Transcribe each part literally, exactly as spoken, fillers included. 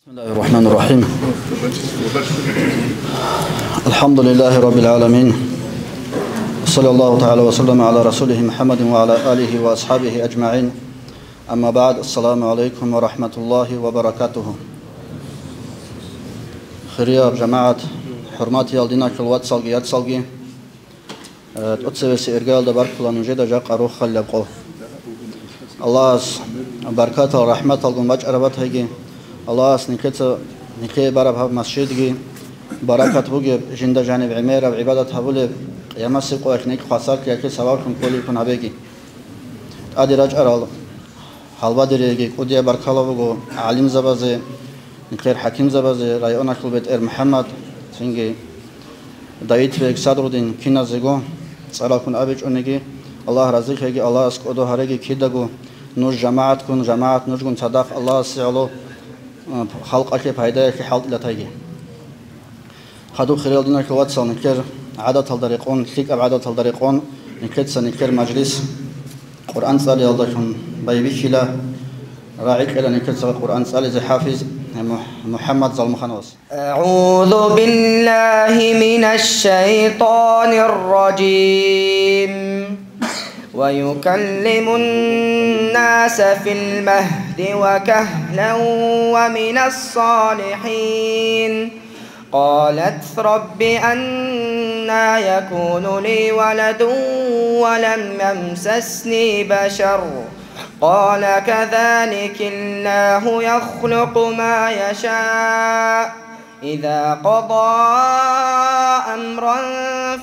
بسم الله الرحمن الرحيم. الحمد لله رب العالمين. صلى الله تعالى وسلم على رسوله محمد وعلى آله وأصحابه أجمعين. أما بعد، السلام عليكم ورحمة الله وبركاته. Хирияб жамагӀат, хӀурматиял диналъул вацалги яцалги, э, тӀоцебесеб иргаялда баркула нужеда жакъа рохалилаб къо. Аллагьас баркатал, рахӀматалгун бачӀараб батайги, Аллагьас никеца, никее бараб гьаб масжидги баракат бугеб, жинда жаниб гӀемераб гӀибадат гьабулеб, къиямасеб къоялъ нилъ хвасарлъиялъе сабаблъун кколеб ккун гьабеги. ТӀаде рачӀарал гьалбадериги кӀудияб баркала буго гӀалимзабазе, нилъер хӀакимзабазе, районалъул бетӀер МухӀаммад, цинги Давид бек Садрудин, киназего цӀаралккун абичӀониги, Аллагь разилъеги, Аллагьас кӀодо гьареги кидаго, нуж жамагӀатккун, жамагӀат нужгун цадахъ Аллагьасе гӀоло, э, халкъалъе пайдаялъе хӀалтӀилатайги. Хадуб, хириял диналъул вацал, нилъер гӀадаталда рекъон, лъикӀаб гӀадаталда рекъон, нилъеца нилъер мажлис Къуръан цӀалиялдалъун байбихьила, рагӀи кьела нилъеца Къуръан цӀализе хӀафиз МухӀ-, МухӀаммад Залмухановас. أعوذ بالله من الشيطان الرجيم. ويكلم الناس في المهد وكهلا ومن الصالحين. قالت رب أنى يكون لي ولد ولم يمسسني بشر. قال كذلك الله يخلق ما يشاء. إذا قضى أمرا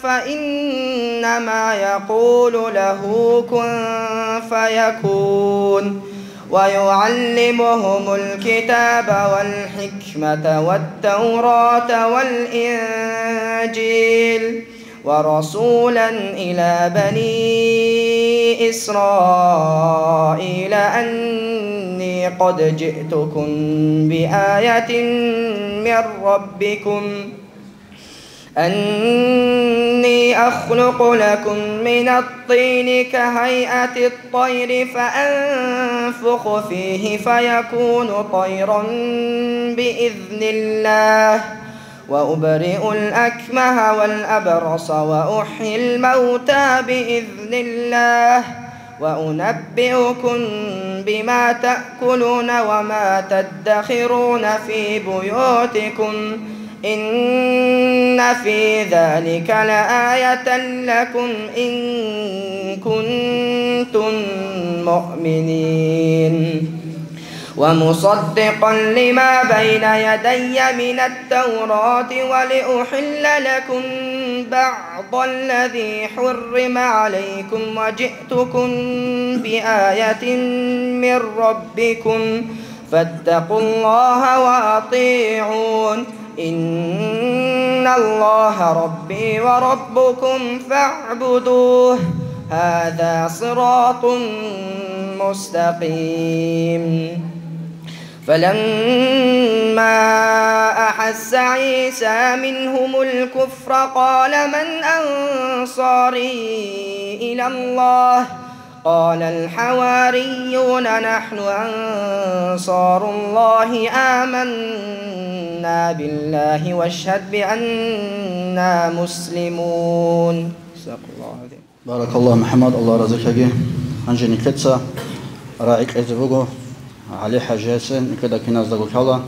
فإنما يقول له كن فيكون. ويعلمهم الكتاب والحكمة والتوراة والإنجيل. ورسولا إلى بني إسرائيل أني قد جئتكم بآية من ربكم، أني أخلق لكم من الطين كهيئة الطير فأنفخ فيه فيكون طيرا بإذن الله، وأبرئ الأكمه والأبرص وأحيي الموتى بإذن الله، وأنبئكم بما تأكلون وما تدخرون في بيوتكم، إن في ذلك لآية لكم إن كنتم مؤمنين. ومصدقا لما بين يدي من التوراة ولأحل لكم بعض الذي حرم عليكم وجئتكم بآية من ربكم فاتقوا الله وأطيعون. إن الله ربي وربكم فاعبدوه، هذا صراط مستقيم. فلما أحس عيسى منهم الكفر قال من أنصاري إلى الله؟ قال الحواريون نحن أنصار الله آمنا بالله واشهد بأننا مسلمون. صدق الله العظيم. Баракаллагьу, МухӀаммад, Аллагь разилъаги. Гьанже нилъеца рагӀи кьезе буго ГӀали-хӀажиясе, нилъеда киназдаго лъала,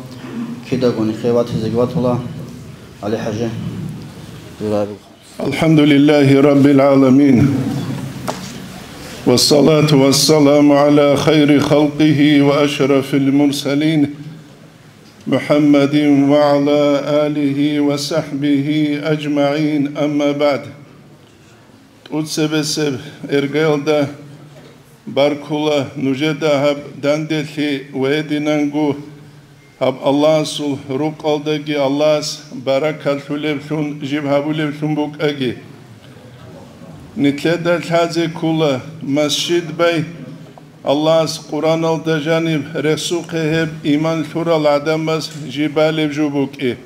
кидаго нилъее ватизеги ватула. ГӀали-хӀажи, дуе рагӀи буго. الحمد لله رب العالمين. والصلاة والسلام على خير خلقه وأشرف المرسلين محمد وعلى آله وصحبه أجمعين، أما بعد. ТӀуцебесеб иргаялда баркула нужеда гьаб данделъи ва гьединанго гьаб Аллагьасул рукъалдаги Аллагьас баракалъулеблъун жиб гьабулеблъун букӀаги. Нилъеда лъазе ккола масжид бай, Аллагьас Къуръаналда жаниб рехсухъе гьеб иман лъурал гӀадамаз жиб балеб жо букӀи.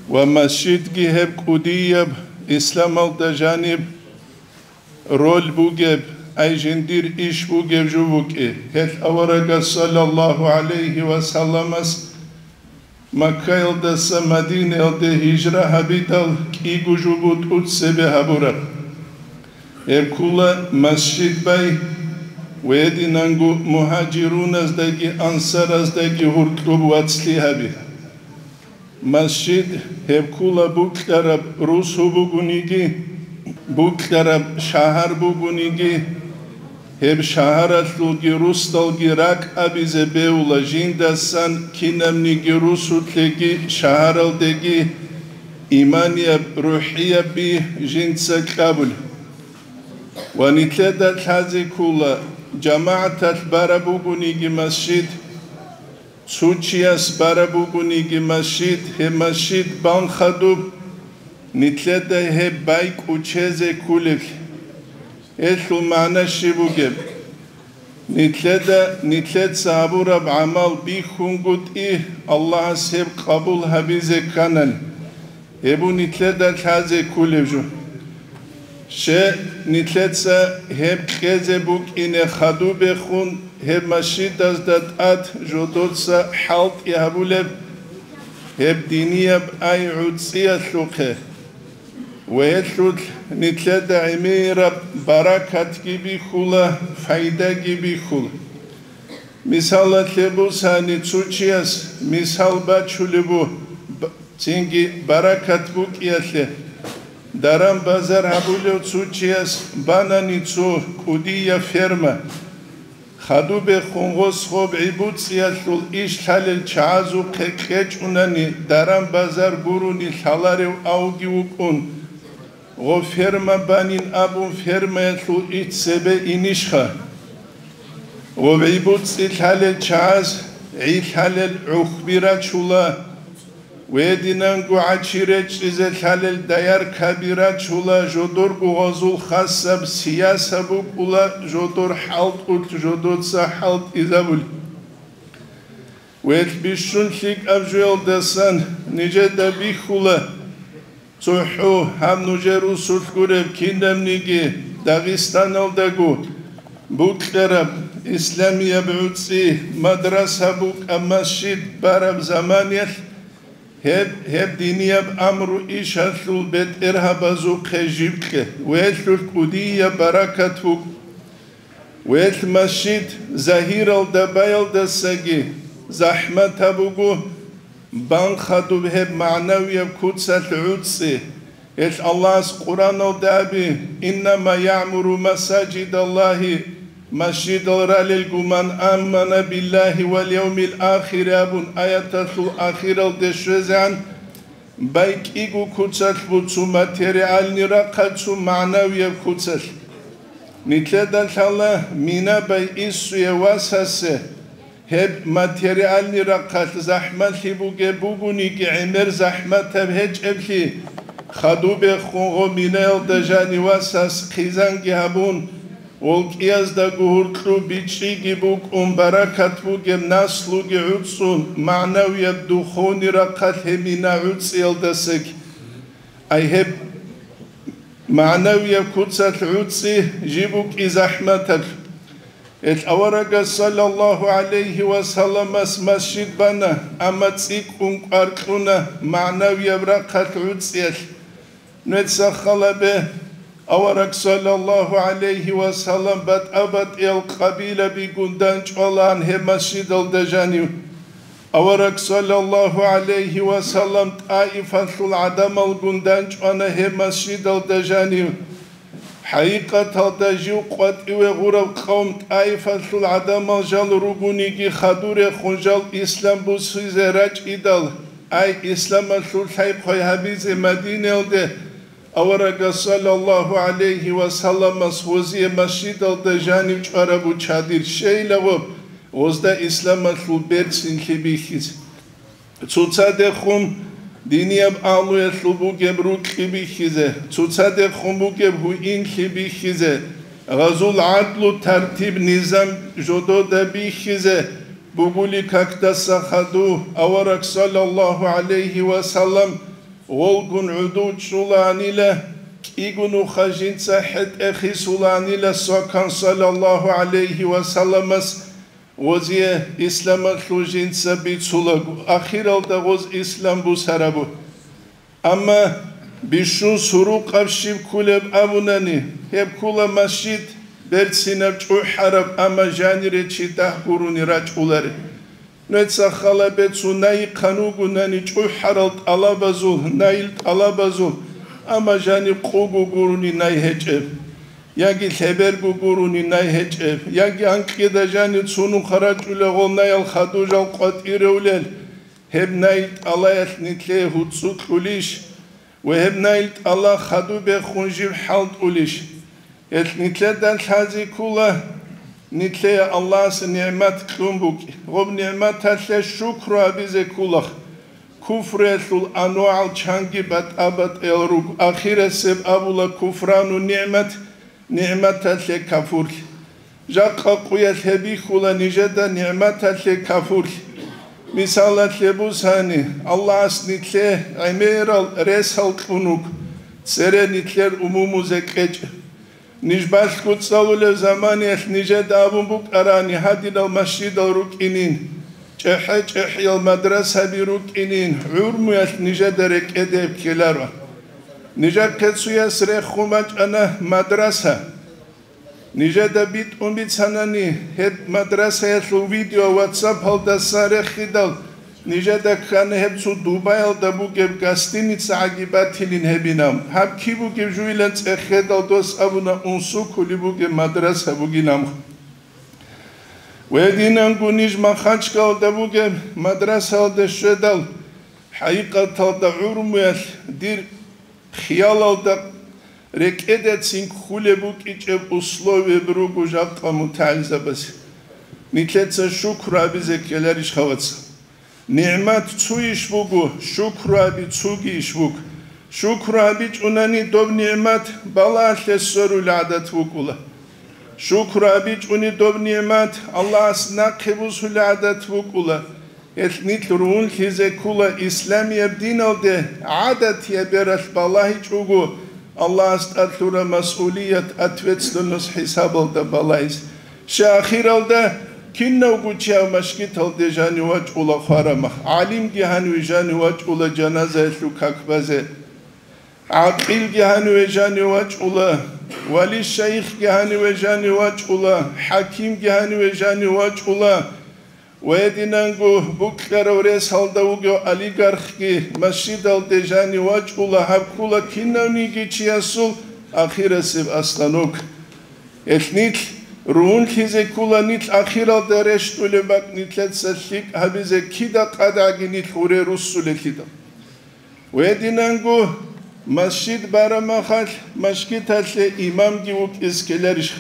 Ва масжидги гьеб кӀудияб исламалда жаниб роль бугеб, ай жиндир иш бугеб жо букӀи. Гьелъ аварагас саллаллагьу гӀалайгьи ва салламас Маккаялдаса Мадинаялде гьижра гьабидал кӀиго жо буго тӀоцебе гьабураб. Гьеб ккола масжид бай ва гьединанго мугьажируназдаги ансараздаги гьоркьоб вацлъи гьаби. Масжид гьеб ккола букьараб русу бугониги, букьараб шагьар бугониги, гьеб шагьаралъулги русдалги ракӀ абизе бегьула жиндасан кинабниги русулъеги шагьаралдеги иманияб, рухӀияб би жинца кьабулеб. Ва нилъеда лъазе ккола, жамагӀаталъ бараб бугониги масжид, цо чияс бараб бугониги масжид, гьеб масжид бан хадуб, нилъеда гьеб бай кӀочезе кколеблъи. Гьелъул магӀна щиб бугеб? Нилъеда нилъеца гьабураб гӀамал бихьунгутӀи, Аллагьас гьеб къабул гьабизе кканани. Гьеб нилъеда лъазе кколеб жо. Щай нилъеца гьеб кьезе букӀине хадубехун, гьеб масжидазда тӀад жодоца хӀалтӀи гьабулеб, гьеб динияб ай гӀуцӀиялъухъе, ва гьелъулъ нилъеда гӀемераб баракатги бихьула, пайдаги бихьула. Мисалалъе бусани, цо чияс мисал бачулеб бу-, б-, цинги баракат букӀиялъе. Даран-базар гьабулев цо чияс банани цо кӀудияб ферма. Хадубехун гъос гъоб гӀибуцӀиялъул иш лъалел чагӀазухъе кьечӀунани, даран-базар гурони лъаларев авги вукӀун, гъо ферма банин абун фермаялъул иш цебе инищха? Гъо гӀибуцӀи лъалел чагӀаз гӀи лъалел гӀухьби рачула, гьединанго гӀачи речӀчӀизе лъалел даяркаби рачула, жодорго гъозул хасаб сияса букӀула, жодор хӀалтӀулъ жодоца хӀалтӀизабули. Гьелъ бищун лъикӀаб жоялдасан нижеда бихьула, цохӀо гьаб нужер русулъ гуреб кинабниги Дагъистаналдаго букьараб исламияб гӀуцӀи, мадраса букӀа, масжид бараб заманиялъ, гьеб, гьеб динияб амру ишалъул бетӀергьабазухъе жибкье, гьелъулъ кӀудияб баракат буго. Гьелъ масжид загьиралда баялдасаги захӀматаб буго, бан хадуб гьеб магӀнавияб куцалъ гӀуцӀи. Гьелъ Аллагьас Къуръаналда аби: «Иннама яъмуру масажидаллагьи», масжидал ралелгун, «ман амана биллагьи вал явмил ахири», абун аяталъул ахиралде щвезегӀан, бай кӀиго куцалъ буго, цо материальный рахъалъ, цо магӀнавияб куцалъ. Нилъеда лъала мина бай иссуе васасе, гьеб материальный рахъалъ захӀмалъи бугеб бугониги, гӀемер захӀматаб гьечӀеблъи, хадубехун гъо минаялда жанив васас хъизанги гьабун, волкӀияздаго гьуркьу бичӀчӀиги букӀун, баракат бугеб наслуги гӀуцӀун, магӀнавияб духовный рахъалъ гьеб мина гӀуцӀиялдасаги. Ай гьеб магӀнавияб куцалъ гӀуцӀи жиб букӀи захӀматаб. Гьелъ аварагас саллаллагьу гӀалайгьи ва салламас масжид бана, амма цӀикӀкӀун кӀвар кьуна магӀнавияб рахъалъ гӀуцӀиялъ. Нужеца хал гьабе, авараг саллаллагьу гӀалайгьи ва саллам батӀа-батӀиял къабилабигун дандчӀвалаан гьеб масжидалда жанив. Авараг саллаллагьу гӀалайгьи ва саллам ТӀаифалъул гӀадамалгун дандчӀвана гьеб масжидалда жанив. ХӀакъикъаталда жив къватӀиве гъурав къавм ТӀаифалъул гӀадамал жал ругониги хадурехун жал ислам бусизе рачӀидал, ай, исламалъул лъай-хъвай гьабизе Мадинаялде аварагас саллаллагьу гӀалайгьи ва салламас гъозие масжидалда жанив чӀварабу чадир щейлаго, гъозда исламалъул берцинлъи бихьизе. Цоцадехун динияб агьлуялъул бугеб рукьи бихьизе, цоцадехун бугеб гьуинлъи бихьизе, гъазул гӀадлу, тартиб, низам жодода бихьизе бугули какдаса хадув авараг саллаллагьу гӀалайгьи ва саллам гъолгун гӀуду чӀулаанила, кӀиго нуха жинца хӀетӀе хисулаанила свакан саллаллагьу гӀалайгьи ва салламас, Гъозие исламалъул жинца бицулаго, ахиралда гъоз ислам бусарабу. Амма бищун сурукъаб щиб ккулеб абунани, гьеб ккула масжид берцинаб чӀухӀараб, амма жанире чи дагь гурони рачӀулареб. Нуеца хала бецун найихъан вугунани чӀухӀарал тӀалабазул, найил тӀалабазул, амма жаниб къуго гурони най гьечӀеб, яги лъеберго гурони най гьечӀеб, яги анкьида жанир цунухъа рачӀулел гъол наял хадужал къватӀиревлел, гьеб найил тӀалаялъ нилъее гьуцӀцӀу кьулищ? Ва гьеб найил тӀала хадуб бехун жиб хӀалтӀулищ? Гьелъ нилъеда лъази ккула, нилъее Аллагьас нигӀмат кьун букӀи. Гъоб нигӀматалъе шукру гьабизе ккулах. Куфруялъул анвагӀал чанги батӀа-батӀиял руго. Ахирасеб абула куфрану нигӀмат, нигӀматалъе кафурлъи. Жакъа къуялъ гьеб бихьула нижеда нигӀматалъе кафурлъи. Мисалалъе бусани, Аллагьас нилъе гӀемерал ресал кьун вуго, цере нилъер умумузе кьечӀеб. Ниж балъго цӀалулев заманиялъ нижеда абун букӀарани гьадинал масжидал рукӀинин, чӀехӀе-чӀехӀиял мадрасаби рукӀинин, гӀурмуялъ нижеда рекӀеде ккеларо. Нижехъе цуяс рехун бачӀана мадраса. Нижеда битӀун бицанани, гьеб мадрасаялъул видео ватсапалдасан рехидал, нижеда ккана гьеб цо Дубаялда бугеб гостиницагӀаги батилин гьебинаб. Гьаб киб бугеб жуйилан цӀехедал дос абуна, унсукули бугеб мадраса бугинаб. Гьединанго ниж Махачкалда бугеб мадрасаялда щведал, хӀакъикъаталда гӀурмуялъ дир хиялалда рекӀедацин кколеб букӀичӀеб условияб руго жакъа мутагӀилзабаз. Нилъеца шукру гьабизе ккеларищ, хаваца? НигӀмат цуйищ буго, шукру гьаби цугийищ буго? Шукру гьабичӀунани доб нигӀмат балагьалъе сверулел гӀадат букӀула. Шукру гьабичӀуни доб нигӀмат Аллагьас нахъе бусулел гӀадат букӀула. Гьелъ нилъ ругьунлъизе ккула исламияб диналде гӀадатияб бералъ балагьичӀого, Аллагьас тӀад лъураб масъулият, ответственность хӀисабалда балагьизе. Щай ахиралда кинавго чи гьав машгиталде жанив вачӀула хварамах, гӀалимги гьаниве жанив вачӀула жаназаялъул как базе. ГӀакъилги гьаниве жанив вачӀула, вали-шайихги гьаниве жанив вачӀула, хӀакимги гьаниве жанив вачӀула, ва гьединанго букьарав ресалда вугев олигархги масжидалде жанив вачӀула, гьаб ккула кинавниги чиясул ахирасеб остановка. Гьелъ нилъ ругьунлъизе ккула нилъ ахиралда рещтӀулеб бакӀ нилъеца лъикӀ гьабизе кида къадагӀги нилъ гъуре руссулелъидал. Гьединанго масжид бараб махалъ, машгиталъе имамги вукӀиз ккеларищ?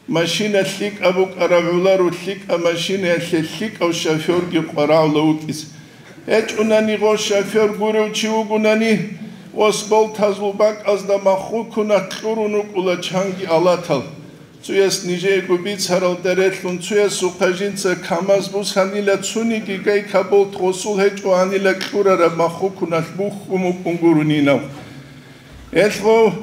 Машина лъикӀаб букӀараб гӀоларо, лъикӀаб машинаялъе лъикӀав шофёрги къварагӀула вукӀиз. ГьечӀунани гъо шофёр гурев чи вугунани, гъос болтазул бакӀазда маххукуна кьурун вукӀула чанги алатал. Цуяс нижеего бицаралда релълъун, цуясухъа жинца КамАЗ бусанила, цуниги гайка болт гъосул гьечӀоанила кьурараб маххукуналъ бухьун букӀун гуронинав. Гьелъ гъов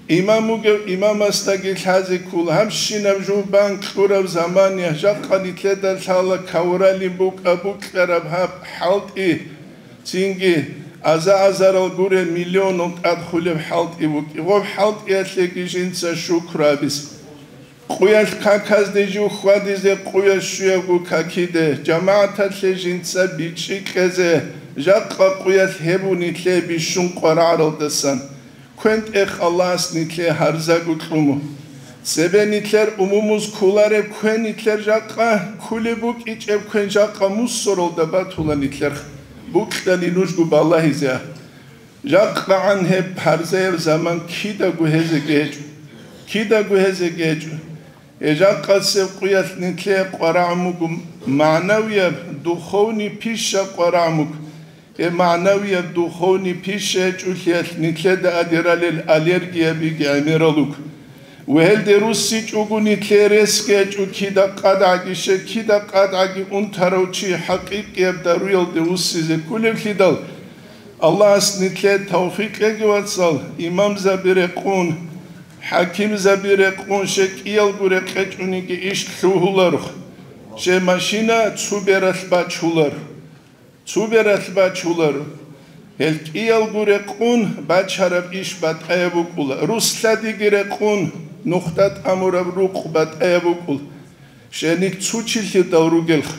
имам вугев имамасдаги лъазе ккола, гьабщинаб жубан кьураб замания жакъа нилъеда лъала кавуралин букӀа-букьараб гьаб хӀалтӀи. Цинги аза-азарал гуреб миллионал тӀад хулеб хӀалтӀи букӀи. Гъоб хӀалтӀиялъеги жинца шукру абизе. Къуялъ каказде жив хьвадизе къуялъ щуябго какиде, жамагӀаталъе жинца бичӀчӀи кьезе, жакъа къуялъ гьеб нилъее бищун къварагӀаралдасан. КвентӀех Аллагьас нилъее гьарзаго кьуму. Цебе нилъер умумуз кколареб квен нилъер жакъа, кколеб букӀичӀеб квен жакъа мусоралда батула нилъер. Букьани нужго балагьизе. ЖакъагӀан гьеб гьарзаяб заман кидаго гьезеги гьечӀо. Кидаго гьезеги гьечӀо. Гьеб жакъасеб къуялъ нилъее къварагӀун буго, магӀнавияб, духовный пища къварагӀун буго. Гьеб магӀнавияб духовный пища гьечӀолъиялъ нилъеда адиралел аллергиябиги гӀемерал руго. Ва гьелде руссичӀого нилъее ресги гьечӀо кида къадагӀаги, щай кида къадагӀаги унтарав чи хӀакъикъияб даруялде вуссизе кколевлъидал. Аллагьас нилъее тавфикъ кьеги, вацал, имамзаби рекъун, хӀакимзаби рекъун, щай кӀиялго рекъечӀониги иш лъугьуларухъ. Щай машина цу бералъ бачулар. Цу бералъ бачулар. Гьел кӀиялго рекъун бачараб иш батӀаяб букӀула. Русладиги рекъун нухда тӀамураб рукъ батӀаяб букӀула. Щай нилъ цу чилъидал ругелха.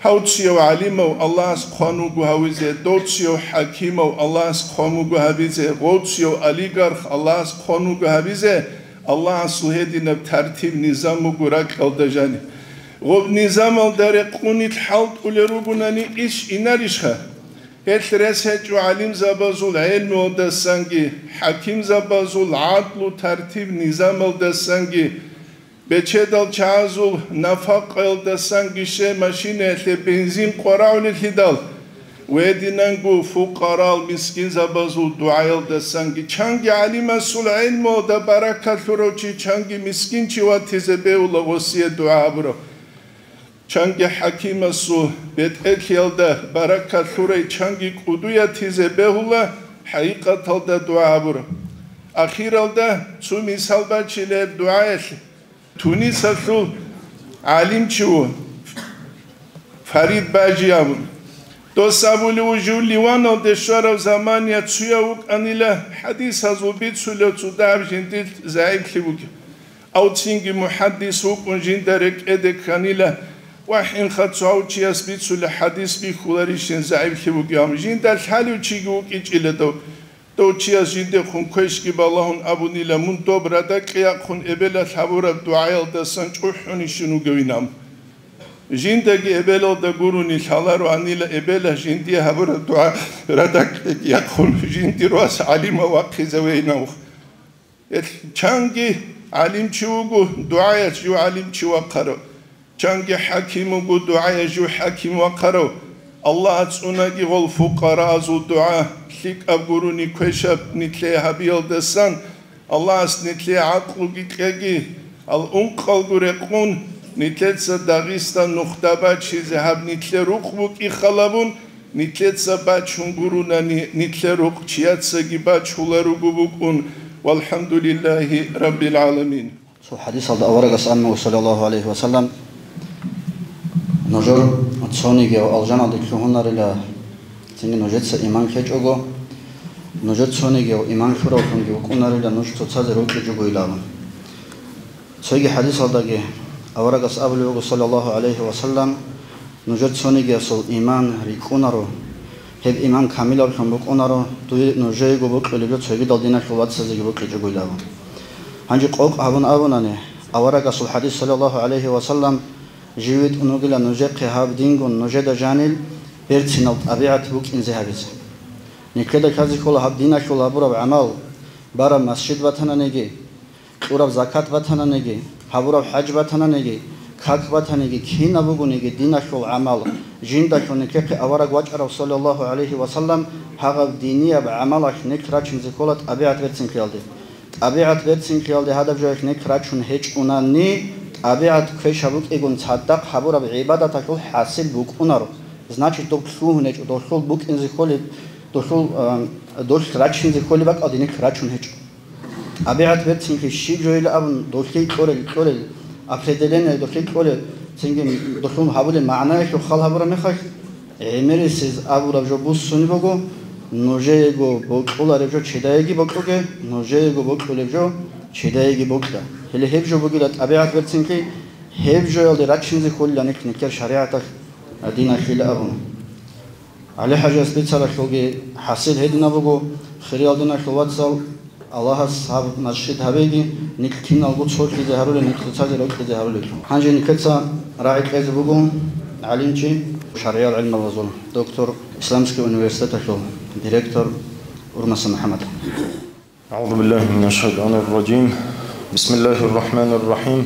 Гьав цияв гӀалимав Аллагьас хъван вуго гьавизе, дов цияв хӀакимав Аллагьас хъван вуго гьабизе, гъов цияв олигарх Аллагьас хъван вуго гьабизе, Аллагьасул гьединаб тартиб-низам буго ракьалда жаниб. Гъоб низамалда рекъунил хӀалтӀулел ругунани иш инарищха? Гьелъ рес гьечӀо гӀалимзабазул гӀелмуялдасанги, хӀакимзабазул гӀадлу тартиб-низамалдасанги, бечедал чагӀазул нафакъаялдасанги, щай машинаялъе бензин къварагӀулелъидал, гьединанго фукъарал мискинзабазул дугӀаялдасанги, чанги гӀалимасул гӀелмуялда баракат лъурав чи чанги мискин чи ватизе бегьула гъосие дугӀа гьабурав. Чанги хӀакимасул бетӀерлъиялда баракат лъурай чанги кӀудуятизе бегьула хӀакъикъаталда дугӀа гьабураб. Ахиралда цо мисал бачила гьеб дугӀаялъе. Тунисалъул гӀалимчи ву Фарид Бажи абун. Дос абулев ву жив Ливаналде щварав замания цуяв вукӀанила, хӀадисазул бицулев цо дагьаб жиндилъ загӀиплъи бугеб. Ав цинги мухӀаддис вукӀун жинда рекӀеде кканила, вахӀинха цо гьав чияс бицула хӀадис бихьуларищин загӀиплъи бугеб, амма жинда лъалев чиги вукӀичӀила дов. Дов чияс жиндехун квешги балагьун абунила, мун доб радакье яхъун эбелалъ гьабураб дугӀаялдасан чӀухӀунищин вугевин ам. Жиндаги эбелалда гурони лъалароанила эбелалъ жиндие гьабураб дугӀа радакьеги яхъун жиндир вас гӀалимав вахъизавейин ам. Гьелъ чанги гӀалимчи вуго, дугӀаялъ жив гӀалимчи вахъарав. Чанги хӀаким вуго, дугӀаялъ жив хӀаким вахъарав. Аллагьас цӀунаги гъол фукъараазул дугӀа, лъикӀаб гурони квешаб нилъее гьабиялдасан, Аллагьас нилъее гӀакълуги кьеги, ал ункъалго рекъун, нилъеца Дагъистан нухда бачизе гьаб нилъер рукъ букӀи халабун, нилъеца бачун гурунани, нилъер рукъ чияцаги бачуларуго букӀун. ВалхӀамдулиллагьи раббил гӀаламин. Цо хӀадисалда аварагас амма, саллаллагьу гӀалайгьи ва саллам, нужер цонигияв алжаналде лъугьунарила, цинги нужеца иман ккечӀого, нужер цонигияв иман лъуравлъунги вукӀунарила нуж цоцазе рокьичӀогойилан. Цоги хӀадисалдаги аварагас абулеб буго, саллаллагьу гӀалайгьи ва саллам, нужер цонигиясул иман рикӀкӀунаро, гьеб иман камилаблъун букӀунаро, дуе нужеего бокьулеб жо цогидал диналъул вацазеги бокьичӀогойилан. Гьанже къокъ гьабун абунани, аварагасул хӀадис, саллаллагьу гӀалайгьи ва саллам, жив витӀун вугила нужехъе гьаб дингун нужеда жанил берцинал тӀабигӀат букӀинзе гьабизе. Нилъеда лъазе ккола гьаб диналъул гьабураб гӀамал, бараб масжид батананиги, кьураб закат батананиги, гьабураб хӀаж батананиги, как батаниги, кинаб бугониги диналъул гӀамал, жиндалъун нилъехъе авараг вачӀарав, саллаллагьу гӀалайгьи ва саллам, гьагъаб динияб гӀамалалъ нилъ рачинзе ккола тӀабигӀат берцинлъиялде. ТӀабигӀат берцинлъиялде гьадаб жоялъ нилъ рачун гьечӀунани, тӀабигӀат квешаб букӀигун цадахъ гьабураб гӀибадаталъул хӀасил букӀунаро. Значит, доб лъугьун гьечӀо, долъул букӀинзе кколеб, долъул, а, долъ рачинзе кколеб бакӀалде нилъ рачун гьечӀо. ТӀабигӀат берцинлъи щиб жойила абун, долъи кьолел, кьолел, определение долъи кьолел, цинги долъун гьабулел магӀнаялъул хал гьабураб мехалъ, гӀемерисез абураб жо буссунеб буго: нужеего бокьулареб жо чидаеги бокьуге, нужеего бокьулеб жо чидаеги бокьа. Гьеле гьеб жо бугила тӀабигӀат берцинлъи, гьеб жоялде рачинзе кколила нилъ нилъер шаригӀаталъ, диналъила абун. ГӀали-хӀажияс бицаралъулги хӀасил гьединаб буго, хириял диналъул вацал, Аллагьас гьаб масжид гьабеги, нилъ киналго цолъизе гьарулел, нилъ цоцазе рокьизе гьарулел. Гьанже нилъеца рагӀи кьезе буго гӀалимчи, шаргӀиял гӀилмалазул доктор, Исламский университеталъул директор Урмаса МухӀаммад. أعوذ بالله من الشيطان الرجيم. بسم الله الرحمن الرحيم.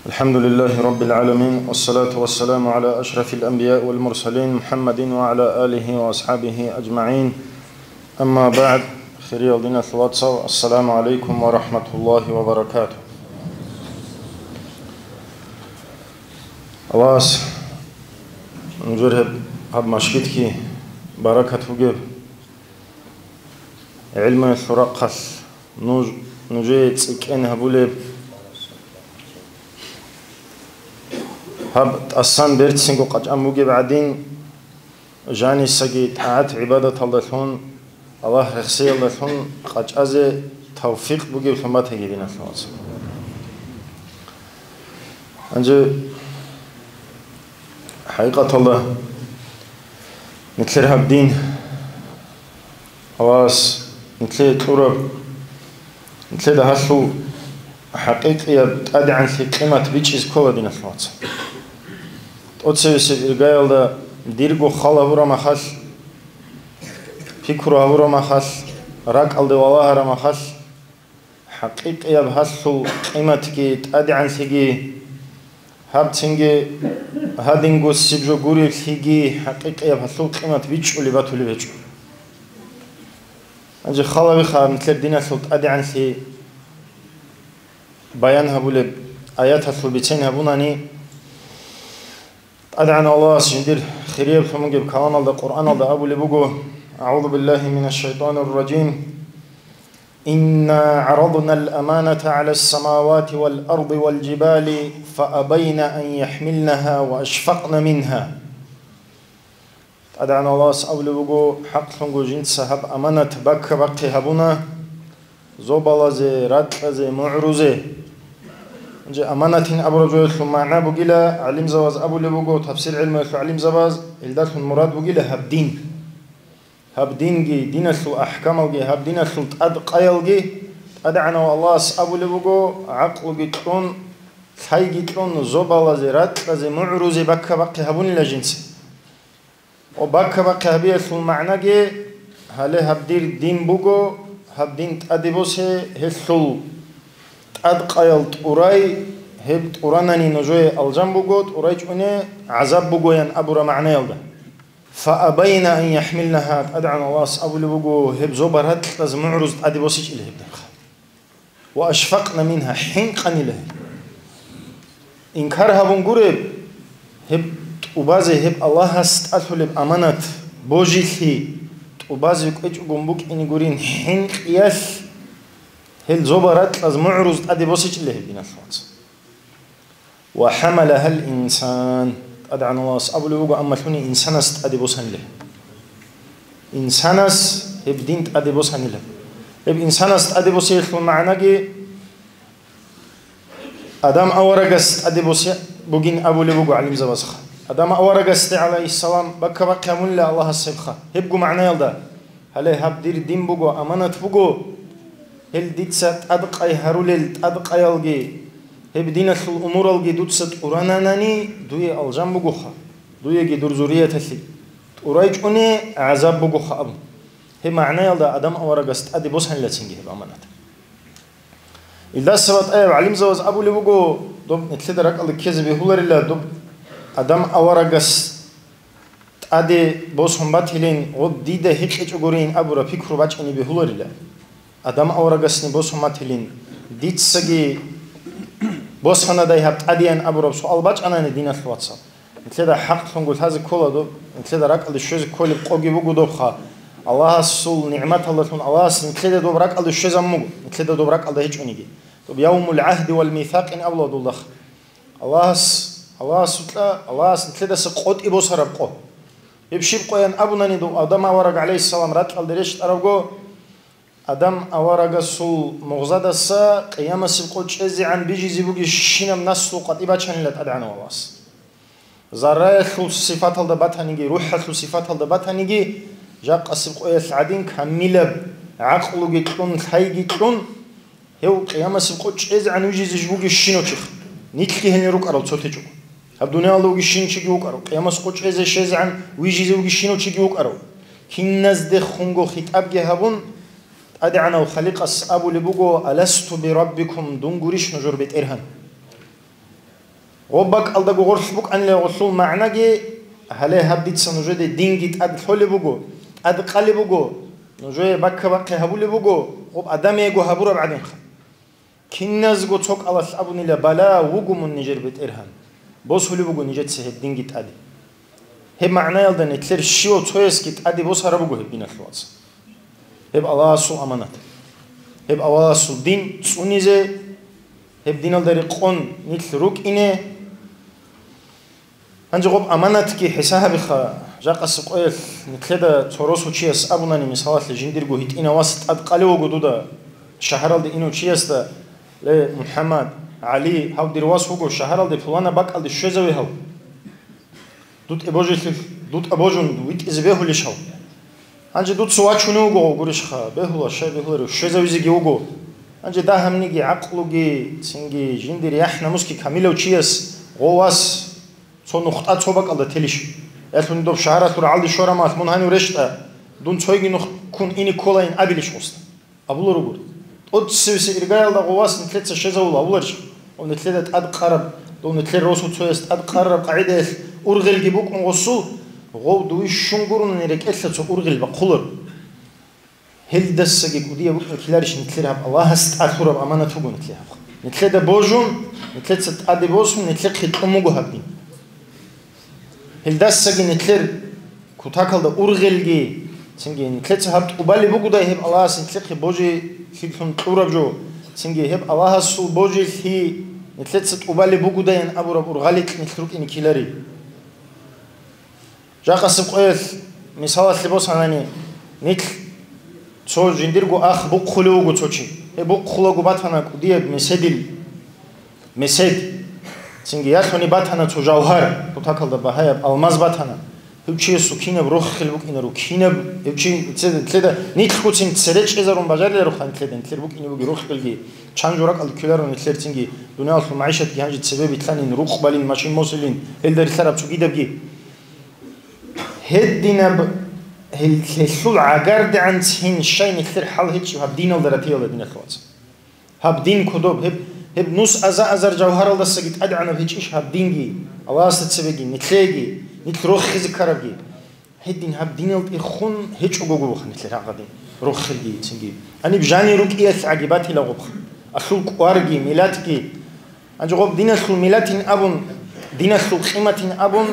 الحمد لله رب العالمين، والصلاة والسلام على أشرف الأنبياء والمرسلين محمد وعلى آله وأصحابه أجمعين. أما بعد، хириял диналъул вацал, السلام عليكم ورحمة الله وبركاته. Аллагьас нужер гьеб гьаб машгидги баракат бугеб. ГӀилмуялъул рахъалъ нуж, нужее цӀикӀкӀин гьабулеб, Гьаб тӀасан берцинго къачӀан бугеб гӀадин, жанисаги тӀагӀат-гӀибадаталдалъун, Аллагь рехсеялдалъун къачӀазе тавфикъ бугеблъун батаги, диналъул вацал. Гьанже, хӀакъикъаталда, нилъер гьаб дин, Аллагьас нилъее кьураб, нилъеда гьалъул хӀакъикъияб тӀадегӀанлъи къимат бичӀчӀизе ккола, диналъул вацал. ТӀоцебесеб иргаялда дирго хал гьабураб махалъ, пикру гьабураб махалъ, ракӀалде валагьараб махалъ, хӀакъикъияб гьалъул къиматги тӀадегӀанлъиги, гьаб цинги гьадинго сиб жо гуреблъиги, хӀакъикъияб гьалъул къимат бичӀчӀулеб батулеб гьечӀо. Гьанже хал гьабиха, нилъер диналъул тӀадегӀанлъи баян гьабулеб аяталъул бицен гьабунани, ТӀадегӀанав Аллагьас жиндир хирияб лъун бугеб каламалда, Къуръаналда абулеб буго: «أعوذ بالله من الشيطان الرجيم. إنا عرضنا الأمانة على السماوات والأرض والجبال فأبين أن يحملنها وأشفقن منها». ТӀадегӀанав Аллагьас абулеб буго: «ХӀакълъунго жинца гьаб аманат бакка-бахъи гьабуна зобалазе, ракьазе, мугӀрузе». Гьанже аманатин абураб жоялъул магӀна бугила, гӀалимзабаз абулеб буго, тафсир гӀелмуялъул гӀалимзабаз, илдалъун мурад бугила гьаб дин. Гьаб динги, диналъул ахӀкамалги, гьаб диналъул тӀадкъаялги ТӀадегӀанав Аллагьас абулеб буго, гӀакълуги кьун, лъайги кьун, зобалазе, ракьазе, мугӀрузе бакка-бахъи гьабунила жинца. Ва бакка-бахъи гьабиялъул магӀнаги, гьале гьаб дир дин буго, гьаб дин тӀаде босе, гьелъул тӀадкъаял тӀурай, гьеб тӀуранани нужее алжан буго, тӀурай чӀуне гӀазаб бугоян абураб магӀнаялда. «فأبين أن يحملنها», ТӀадегӀан Аллагьас абулеб буго, гьеб зобал-ракьаз мугӀруз тӀаде босичӀила гьеб динха. «وأشفقن منها», хӀинкъанила гьел. Инкар гьабун гуреб, гьеб тӀубазе, гьеб Аллагьас тӀалъулеб аманат, божилъи тӀубазе кӀвечӀого букӀине гурин хӀинкъиялъ, гьел зобал-ракьаз мугӀруз тӀаде босичӀила гьеб, диналъул вацал. «وحملها الإنسان», ТӀадегӀан Аллагьас абулеб буго, амма лъуни инсанас тӀаде босанила. Инсанас гьеб дин тӀаде босанила. Гьеб инсанас тӀаде босиялъул магӀнаги Адам аварагас тӀаде босе бугин абулеб буго гӀалимзабазха. Адам аварагасде, гӀалайгьиссалам, бакка-бахъи гьабунила Аллагьас гьебха. Гьебго магӀнаялда. Гьале гьаб дир дин буго, аманат буго. Гьел дица тӀадкъай гьарулел тӀадкъаялги, гьеб диналъул умуралги дуца тӀурананани, дуе алжан бугоха, дуеги дур зуррияталъе тӀурай чӀуне гӀазаб бугоха абун. Гьеб магӀнаялда Адам аварагас тӀаде босанилацинги гьеб аманат. Илдаса батӀаяб гӀалимзабаз абулеб буго, доб нилъеда ракӀалда ккезе бегьуларила, доб Адам аварагас тӀаде босун батилин, гъоб дида гьикъичӀогурин абураб пикру бачӀине бегьуларила. Адам аварагасни босун батилин, дицаги босанадай гьаб тӀадеян абураб суал бачӀанани, диналъул вацал. Нилъеда хӀакълъунго лъазе ккола доб, нилъеда ракӀалде щвезе кколеб къоги буго добха. Аллагьасул нигӀматалдалъун Аллагьас нилъеда доб ракӀалде щвезабун буго, нилъеда доб ракӀалда гьечӀониги. Доб явмул гӀагьди вал мисакъин абула дулдахъ. Аллагьас, Аллагьасукьа, Аллагьас нилъедаса къотӀи босараб къо. Гьеб щиб къоян абунани, дов Адам авараг, гӀалайгьиссалам, ракьалде рещтӀарабго, Адам аварагасул мугъзадаса къиямасеб къо чӀезегӀан бижизе бугебщинаб наслу къватӀи бачанила ТӀадегӀанав Аллагьас. Зарраялъул сифаталда батаниги, рухӀалъул сифаталда батаниги, жакъасеб къоялъ гӀадин камилаб гӀакълуги кьун, лъайги кьун, гьев къиямасеб къо чӀезегӀан вижизе бугебщинав чихъ, нилъги гьенир рукӀарал цо течӀого. Гьаб дуниялда вугебщинав чиги вукӀарав, къиямасеб къо чӀезе щвезегӀан вижизе вугебщинав чиги вукӀарав. Киназдехунго хитӀабги гьабун, ТӀадегӀанав Халикъас абулеб буго: «Аласту бираббикум», дун гурищ нужер БетӀергьан? Гъоб бакӀалдаго гъорлъ букӀанила гъолъул магӀнаги, гьале гьаб дица нужеде динги тӀад лъолеб буго, тӀад къалеб буго, нужее бакка-бахъи гьабулеб буго, гъоб Адамиего гьабураб гӀадинха. Киназго цо кӀалалъ абунила: «Бала, вуго мун нижер БетӀергьан. Босулеб буго нижеца гьеб динги тӀаде». Гьеб магӀнаялда нилъер щивав цоясги тӀаде босараб буго гьеб, диналъул вацал. Гьеб Аллагьасул аманат. Гьеб Аллагьасул дин цӀунизе, гьеб диналда рекъон нилъ рукӀине, Гьанже гъоб аманатги хӀисабиха, жакъасеб къоялъ нилъеда цо росу чияс абунани, мисалалъе, жиндирго гьитӀинав вас тӀад къалев вуго дуда, шагьаралде инав чиясда: «Ле, МухӀаммад, ГӀали, гьав дир вас вуго, шагьаралде пулана бакӀалде щвезаве гьав. ДутӀа божилъи-, дутӀа божун витӀизе бегьулищ гьав?» Гьанже дуца вачунев вуго гъов гурищха, бегьула, щай бегьуларев, щвезавизеги вуго. Гьанже дагьабниги, гӀакълуги, цинги жиндир яхӀ-намусги камилав чияс гъов вас цо нухда цо бакӀалда телищ? Ялъуни доб шагьаралъур гӀалди щварамалъ мун гьанив рещтӀа, дун цойги нух ккун ине кколайин абилищ гъосда? Абуларо гури. ТӀоцевисе иргаялда гъов вас нилъеца щезавула абуларищ? Гъов нилъеда тӀад къараб, дов нилъер росу цояс тӀад къарараб къагӀидаялъ ургъелги букӀун гъосул, гъов дуе щун гурони рекӀелъа цо ургъел бахъуларо. Гьелдасаги кӀудияб букӀин ккеларищ нилъер гьаб Аллагьас тӀад лъураб аманат вуго нилъер гьаб. Нилъеда божун, нилъеца тӀаде босун, нилъехъе кьун буго гьаб дин. Гьелдасаги нилъер кутакалда ургъелги, цинги нилъеца гьаб тӀубалеб бугодай гьеб Аллагьас нилъехъе божилъилъун кьураб жо, цинги гьеб Аллагьасул божилъи нилъеца тӀубалеб бугодаян абураб ургъаликь нилъ рукӀине ккелари. Жакъасеб къоялъ мисалалъе босанани, нилъ цо жиндирго ах бухъулев вуго цо чи. Гьеб бухъулаго батана кӀудияб меседил, месед. Цинги ялъуни батана цо жавгьар, кутакалда багьаяб алмаз батана. Гьев чиясул кинаб рохел букӀинаро, кинаб гьев чи цеда, цеда нилъгуцин цере чӀезарун бажариларо хан цеда, нилъер букӀине буги рохелги, чан жо ракӀалде ккеларо нилъер цинги, дуниялалъул магӀишатги гьанже цебе битлъанин, рукъ балин, машин мосилин, гьелда рилълъараб цогидабги. Гьединаб гьел-, гьелъул гӀагардегӀан цин щай нилъер хӀал гьечӀеб гьаб диналда ратиялда, диналъул вацал. Гьаб дин кодоб, гьеб, гьеб нус аза-азар жавгьаралдасаги тӀадегӀанаб гьечӀищ гьаб динги, Аллагьасда цебеги, нилъеги, нилъ рохизе ккарабги. Гьедин гьаб диналде хун гьечӀого гуроха нилъер гьагъадин, рохелги цинги. Гьаниб жанир рукӀиялъ гӀаги батила гъобха. Алъул кӀварги, миллатги. Гьанже гъоб диналъул миллатин абун, диналъул къиматин абун,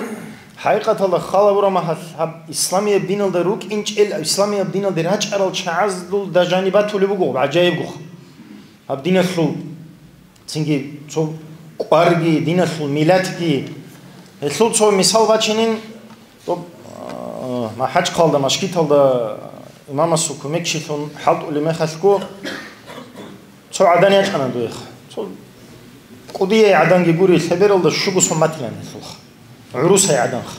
хӀакъикъаталда хал гьабураб мехалъ гьаб исламияб диналда рукӀинчӀел, исламияб диналде рачӀарал чагӀазулда жаниб батулеб буго гъоб гӀажаиб гуха. Гьаб диналъул цинги цо кӀварги, диналъул миллатги. Гьелъул цо мисал бачинин, тӀоб, а, МахӀачхъалда, машгиталда имамасул кумекчилъун хӀалтӀулеб мехалъго, цо гӀадан ячӀана дуеха. Цо кӀудияй гӀаданги гури, лъебералда щуго сон батилан гьелъулха. ГӀурусай гӀаданха.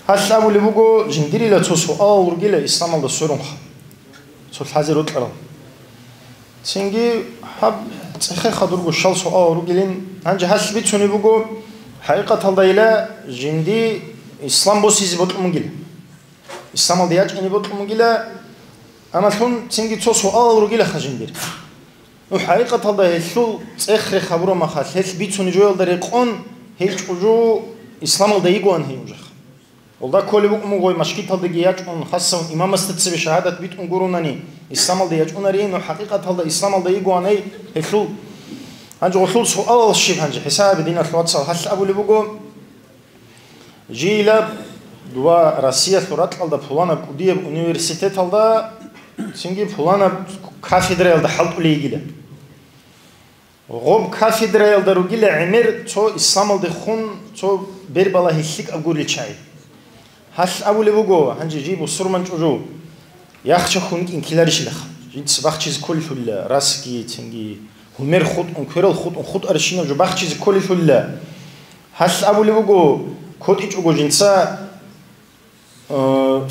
Гьалъ абулеб буго, жиндирила цо суал ругила исламалда сверунха. Цо лъазе рокьарал. Цинги гьаб цӀехеха дурго щал суал ругилин, гьанже гьалъ бицунеб буго, хӀакъикъаталдайила жинди ислам босизе бокьун бугила. Исламалде ячӀине бокьун бугила, амма лъун цинги цо суалал ругилаха жиндир. Ну, хӀакъикъаталда гьелъул цӀех-рех гьабураб мехалъ, гьелъ бицунеб жоялда рекъон, гьей чӀужу исламалда йигоан гьей нужеха. Гьелда кколеб букӀун буго гъой машгиталдаги ячӀун, хасавун имамасда цебе шагьадат битӀун гуронани, исламалда ячӀунарин, ну, хӀакъикъаталда исламалда йигоан гьей гьелъул. Гьанже гъолъул суалал щиб гьанже, хӀисабе, диналъул вацал, гьалъ абулеб буго, жийила дова Россиялъул ракьалда пуланаб кӀудияб университеталда, цинги пуланаб кафедраялда хӀалтӀулей йигила. Гъоб кафедраялда ругила гӀемер цо исламалдехун цо бербалагьи лъикӀаб гурел чагӀи. Гьалъ абулеб буго, гьанже жий бусурман чӀужу, яхча хун кӀинкиларищилаха. Жинца бахчизе кколелъулила, расги, цинги, гьумер хутӀун, кверал хутӀун, хутӀарищинаб жо бахчизе кколелъулила. Гьалъ абулеб буго, котӀичӀого жинца, э,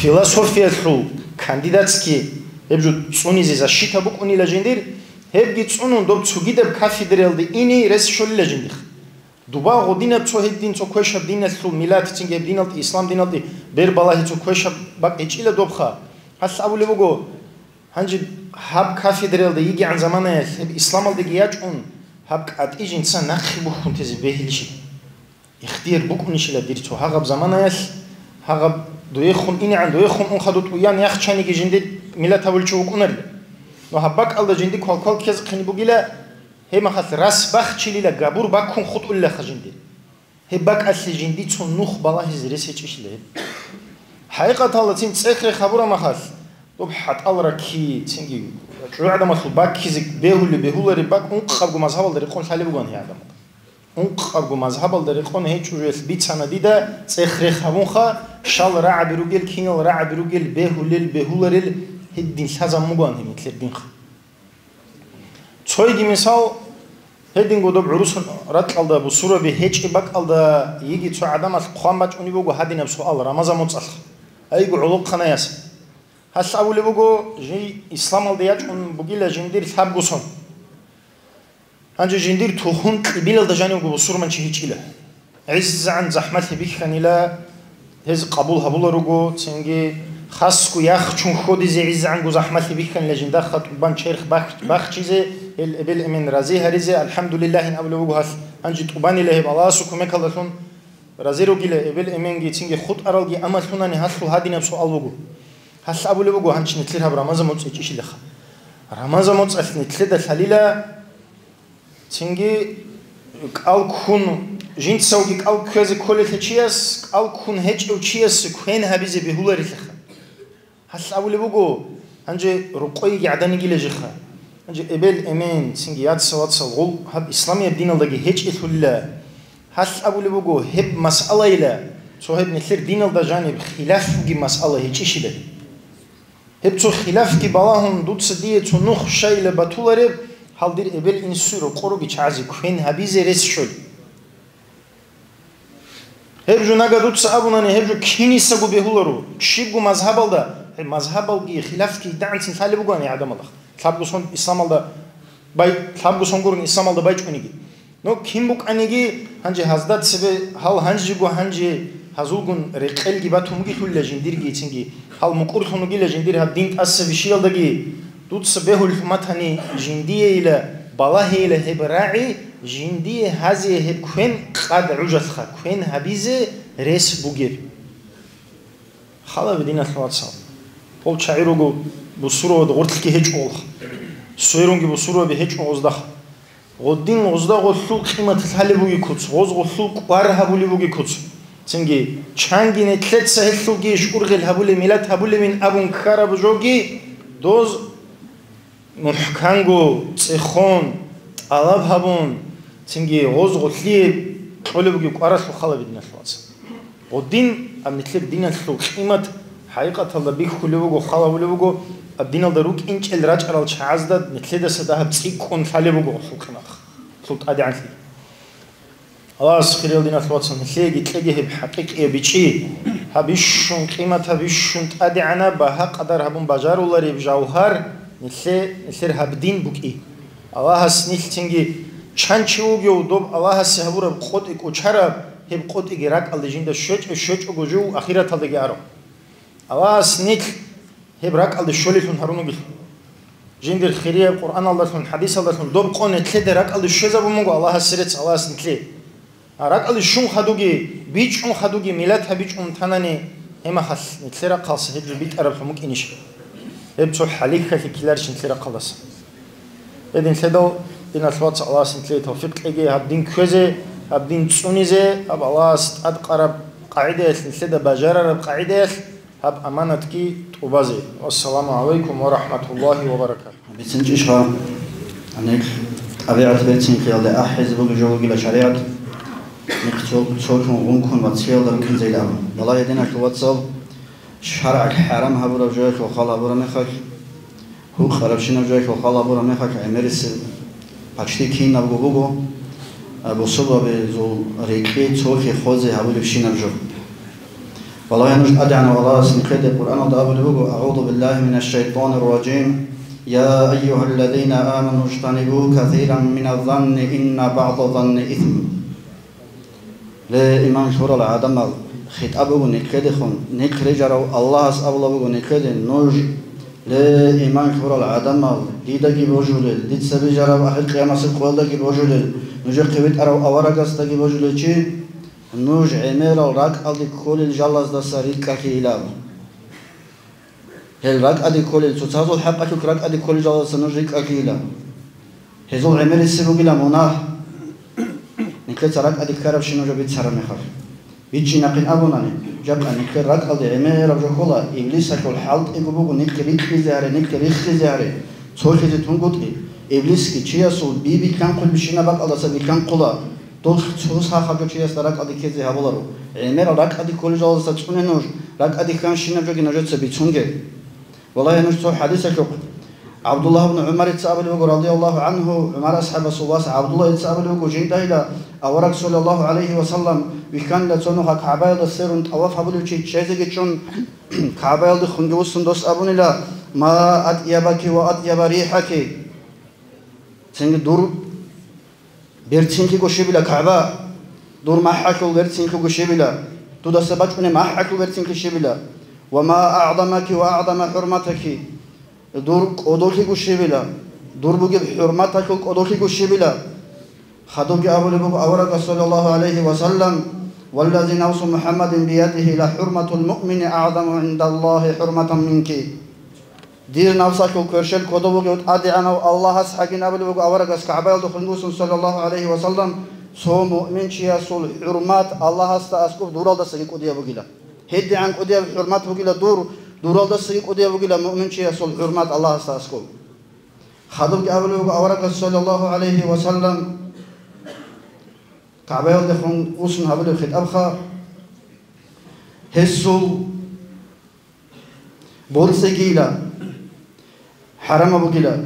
философиялъул кандидатский гьеб жо цӀунизе защита букӀунила жиндир, гьебги цӀунун доб цогидаб кафедраялде ине рес щолила жиндих. Дуба гъодинаб цо гьедин цо квешаб диналъул миллатицинги гьеб диналде, ислам диналде бербалагьи цо квешаб бакӀ гьечӀила добха. Гьалъ абулеб буго, гьанже гьаб кафедраялда йигегӀан заманаялъ гьеб исламалдеги ячӀун, гьаб кӀатӀи жинца нахъе бухьун тезе бегьилищи? Ихтияр букӀунищила дир цо гьагъаб заманаялъ, гьагъаб дуехун инегӀан дуехун ун хадуб тӀуян яхчаниги жиндир миллат гьабулчи вукӀунарила. Но гьаб бакӀалда жинди квалквал ккезехъин бугила, гьеб мехалъ рас бахчилила габур баккун хутӀулилаха жиндир. Гьеб бакӀалъе жиндицун нух балагьизе рес гьечӀищила гьеб. ХӀакъикъаталда цин цӀех-рех гьабураб мехалъ, доб хӀатӀал раки, цинги чӀужугӀадамалъул баккизе бегьулеб, бегьулареб бакӀ ункъабго мазгьабалда рекъон лъалеб бугоан гьей гӀадамал. Ункъабго мазгьабалда рекъон гьечӀо жуялъ бицана дида цӀех-рех гьабунха, щал рагӀаби ругел, кинал рагӀаби ругел, бегьулел, бегьуларел, гьедин лъазабун бугоан гьеб нилъер динха. Цойги мисал, гьединго доб гӀурус ракьалда бусурбаби гьечӀеб бакӀалда йиги цо гӀадамалъ хъван бачӀунеб буго гьадинаб суал Рамазан моцӀалъ, айго гӀолохъанаяс. Гьалъ абулеб буго, жий исламалде ячӀун бугила жиндир лъабго сон. Гьанже жиндир тухум кьибилалда жанивго бусурманчи гьечӀила. ГӀиззагӀан захӀмалъи бихьанила, гьез къабул гьабуларуго, цинги хасго яхчун хьодизе гӀиззагӀанго захӀмалъи бихьанила жиндаха тӀубан черх бах-, бахчизе, гьел эбел-эмен рази гьаризе, алхӀамдулиллагьин абулеб буго гьалъ. Гьанже тӀубанила гьеб Аллагьасул кумекалдалъун рази ругила эбел-эменги, цинги хутӀаралги, амма лъунани гьалъул гьадинаб суал буго. Гьалъ абулеб буго, гьанчи нилъер гьаб Рамазан моцӀ гьечӀищилаха. Рамазан моцӀалъ нилъеда лъалила, цинги кӀал ккун, жинцавги кӀал кквезе кколелъе чияс, кӀал ккун гьечӀев чиясе квен гьабизе бегьуларилъаха. Гьалъ абулеб буго, гьанже рукъойги гӀаданигила жиха. Гьанже эбел-эмен, цинги яца-вацал гъул гьаб исламияб диналдаги гьечӀелъулила. Гьалъ абулеб буго, гьеб масъалайила, цо гьеб нилъер диналда жаниб хилаф бугеб масъала гьечӀищила. Гьеб цо хилафги балагьун, дуца дие цо нух щайила батулареб, гьал дир эбел-инсуе рокъоруги чагӀазе квен гьабизе рес щолеб. Гьеб жо нага дуца абунани, гьеб жо кинисаго бегьуларо, щибго мазгьабалда, гьеб мазгьабалги хилафги дагӀанцин лъалеб бугоани гӀадамалда, лъабго сон исламалда бай-, лъабго сон гурун исламалда байчӀуниги. Ну, кин букӀаниги, гьанже гьазда цебе гьал гьанжего гьанже гьазулгун рекъелги батун бугелъулила жиндирги цинги, гьал мукӀурлъун вугила жиндир гьаб дин тӀаса бищиялдаги, дуца бегьулел хӀуматани жиндиейила, балагьейила гьеб рагӀи, жиндие гьазие гьеб квен къад гӀужалъха, квен гьабизе рес бугеб. Халаби диналъ вацал. Гъол чагӀи руго бусурбабазда гъорлъги гьечӀо гъолха. Сверунги бусурбаби гьечӀо гъоздахъ. Гъодин гъозда гъолъул къимат лъалеб буги куц, гъоз гъолъул кӀвар гьабулеб буги куц. Цинги чанги нилъеца гьелъулги шургъел гьабулеб, миллат гьабулебин абун ккараб жоги, доз мухӀканго, цӀехон, тӀалаб гьабун, цинги гъоз гъолъие кьолеб бугеб кӀваралъул халаби диналъ вацал. Гъодин аб нилъер диналъул къимат хӀакъикъаталда бихьулеб буго, халабулеб буго, аб диналда рукӀинчӀел рачӀарал чагӀазда нилъедаса дагьаб цӀикӀкӀун лъалеб буго гъолъул къимат, гъолъул тӀадегӀанлъи. Аллагьас, хириял диналъ вацал, нилъееги кьеги гьеб хӀакъикъияб бичӀчӀи, гьаб бищун къимат, гьаб бищун тӀадегӀанаб, багьа-къадар гьабун бажарулареб жавгьар нилъе-, нилъер гьаб дин букӀи. Аллагьас нилъ цинги чан чи вугев доб Аллагьасе гьабураб къотӀи кӀочараб, гьеб къотӀиги ракӀалде жинда щвечӀо-щвечӀого жив ахираталдаги аро. Аллагьас нилъ гьеб ракӀалде щолелъун гьарун вугелъул. Жиндир хирияб Къуръаналдалъун, хӀадисалдалъун доб къо нилъеда ракӀалде щвезабун буго Аллагьасе рецц, Аллагьас нилъее. А ракӀалде щун хадуги, бичӀчӀун хадуги, миллат гьабичӀун танани, гьемахалъ нилъер рахъалса гьеб жо битӀараб лъун букӀинищ? Гьеб цо хӀалихьалъи ккеларищ нилъер рахъалдаса? Гьединлъидал, диналъ вацал, Аллагьас нилъее тавфикъ кьеги, гьаб дин кквезе, гьаб дин цӀунизе, гьаб Аллагьас тӀадкъараб къагӀидаялъ, нилъеда бажарараб къагӀидаялъ, гьаб аманатги тӀубазе. Вассаламу гӀалайкум ва рахӀматуллагьи ва баракатугь. БицинчӀищха, гьаниб тӀабигӀат берцинхъиялде ахӀизе бугеб жо бугила шаригӀат, нихъ цо-, цолъун гъункун вацгиялда рукӀинзейилан абун. Валлагь, диналъул вацал, шаргӀалъ хӀарам гьабураб жоялъул хал гьабураб мехалъ, гьукъарабщинаб жоялъул хал гьабураб мехалъ гӀемерисеб почти кинабго буго, а, бусурбабазул рекъи цолъи хозе гьабулебщинаб жо. Валлагь, нуж тӀадегӀанав Аллагьас нилъеде Къуръаналда абулеб буго: «АгӀузу биллагьи минаш шайтанир ражим. Я айюгьаллазина аману жтанибу касиран миназ-занни инна багӀдаз-занни исм». Ле, иман лъурал гӀадамал, хитӀаб буго нилъедехун, нилъ рижарав Аллагьас абулеб буго нилъеде: нуж, ле, иман лъурал гӀадамал, дидаги божулел, дица бижараб ахир къиямасеб къоялдаги божулел, нужехъе витӀарав аварагасдаги божулев чи, нуж гӀемерал ракӀалде кколел жалаздаса рикӀкӀалъейилан. Гьел ракӀалде кколел, цоцазул хӀакъалъулъ ракӀалде кколел жалаздаса нуж рикӀкӀалъейилан. Гьезул гӀемерисеб бугилан мунагь, нилъеца ракӀалде ккарабщинаб жо бицараб мехалъ. Биччинахъин абунани, жакъа нилъер ракӀалде гӀемераб жо ккола, иблисалъул хӀалтӀиго буго нилъ рикьизе гьаре, нилъ риххизе гьаре, цолъизе тунгутӀи. Иблисги чиясул би билълъанхъулебщинаб бакӀалдаса билълъанхъула. Дулъ цо сахаб жо чиясда ракӀалде ккезе гьабуларо. ГӀемерал ракӀалде кколел жалаздаса цӀуне нуж, ракӀалде хьанщинаб жоги нужеца бицунге. Валлагьи, нуж цо хӀадисалъухъ, ГӀабдуллагь ибн ГӀумарица абулеб буго, радияллагьу гӀангьу, ГӀумар асхӀабасул вас ГӀабдуллагьица абулеб буго, жинда гьила авараг, саллаллагьу гӀалайгьи ва саллам, вихьанила цо нуха КагӀбаялда сверун тӀаваф гьабулев чи чӀезеги чӀун, КагӀбаялдехунги вуссун дос абунила: «Ма атӀябаки ва атӀяба рихӀаки». Цинги дур берцинлъиго щибила, КагӀба, дур махӀалъул берцинлъиго щибила, дудаса бачӀунеб махӀалъул берцинлъи щибила, ва ма агӀзамаки ва агӀзама хӀурматаки, дур кӀодолъиго щибила, дур бугеб хӀурматалъул кӀодолъиго щибила. Хадубги абулеб буго аварагас, саллаллагьу гӀалайгьи ва саллам: «Валлази нафсу МухӀаммадин биядигьи, ла хӀурматул муъмини агӀзаму гӀиндаллагьи хӀурматан минки». Дир нафсалъул кверщел кодов вугев ТӀадегӀанав Аллагьас гьагин абулеб буго аварагас КагӀбаялдехун вуссун, саллаллагьу гӀалайгьи ва саллам, цо муъминчиясул хӀурмат Аллагьасда аскӀоб дуралдасаги кӀудияб бугила. ГьедигӀан кӀудияб хӀурмат бугила дур, дуралдасаги кӀудияб бугила муъминчиясул хӀурмат Аллагьасда аскӀоб. Хадубги абулеб буго аварагас, саллаллагьу гӀалайгьи ва саллам, КагӀбаялдехун вуссун гьабулеб хитӀабха, гьесул боцӀигийила, хӀарамаб бугила.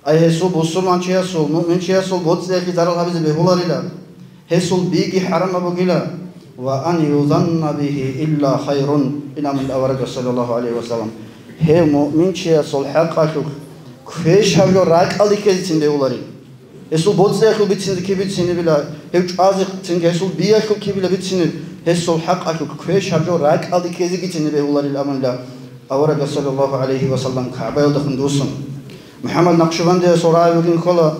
Ай гьесул бусурманчиясул, муъминчиясул боцӀиялъе зарал гьабизе бегьуларила, гьесул биги хӀарамаб бугила. «Ва ан юзанна бигьи илла хайрун», ин абун аварагас, саллаллагьу гӀалайгьи ва саллам, гьев муъминчиясул хӀакъалъулъ квеш гьаб жо ракӀалде ккезецин бегьуларила. Гьесул боцӀиялъул бицинзе киб бицинебила, гьев чӀвазе цинги гьесул биялъул кибила бицинеб, гьесул хӀакъалъулъ квеш гьаб жо ракӀалде ккезегицин бегьуларил абунила аварагас, саллаллагьу гӀалайгьи ва саллам, КагӀбаялдехун вуссун. МухӀаммад Накъшбандиясул рагӀи вугин ккола,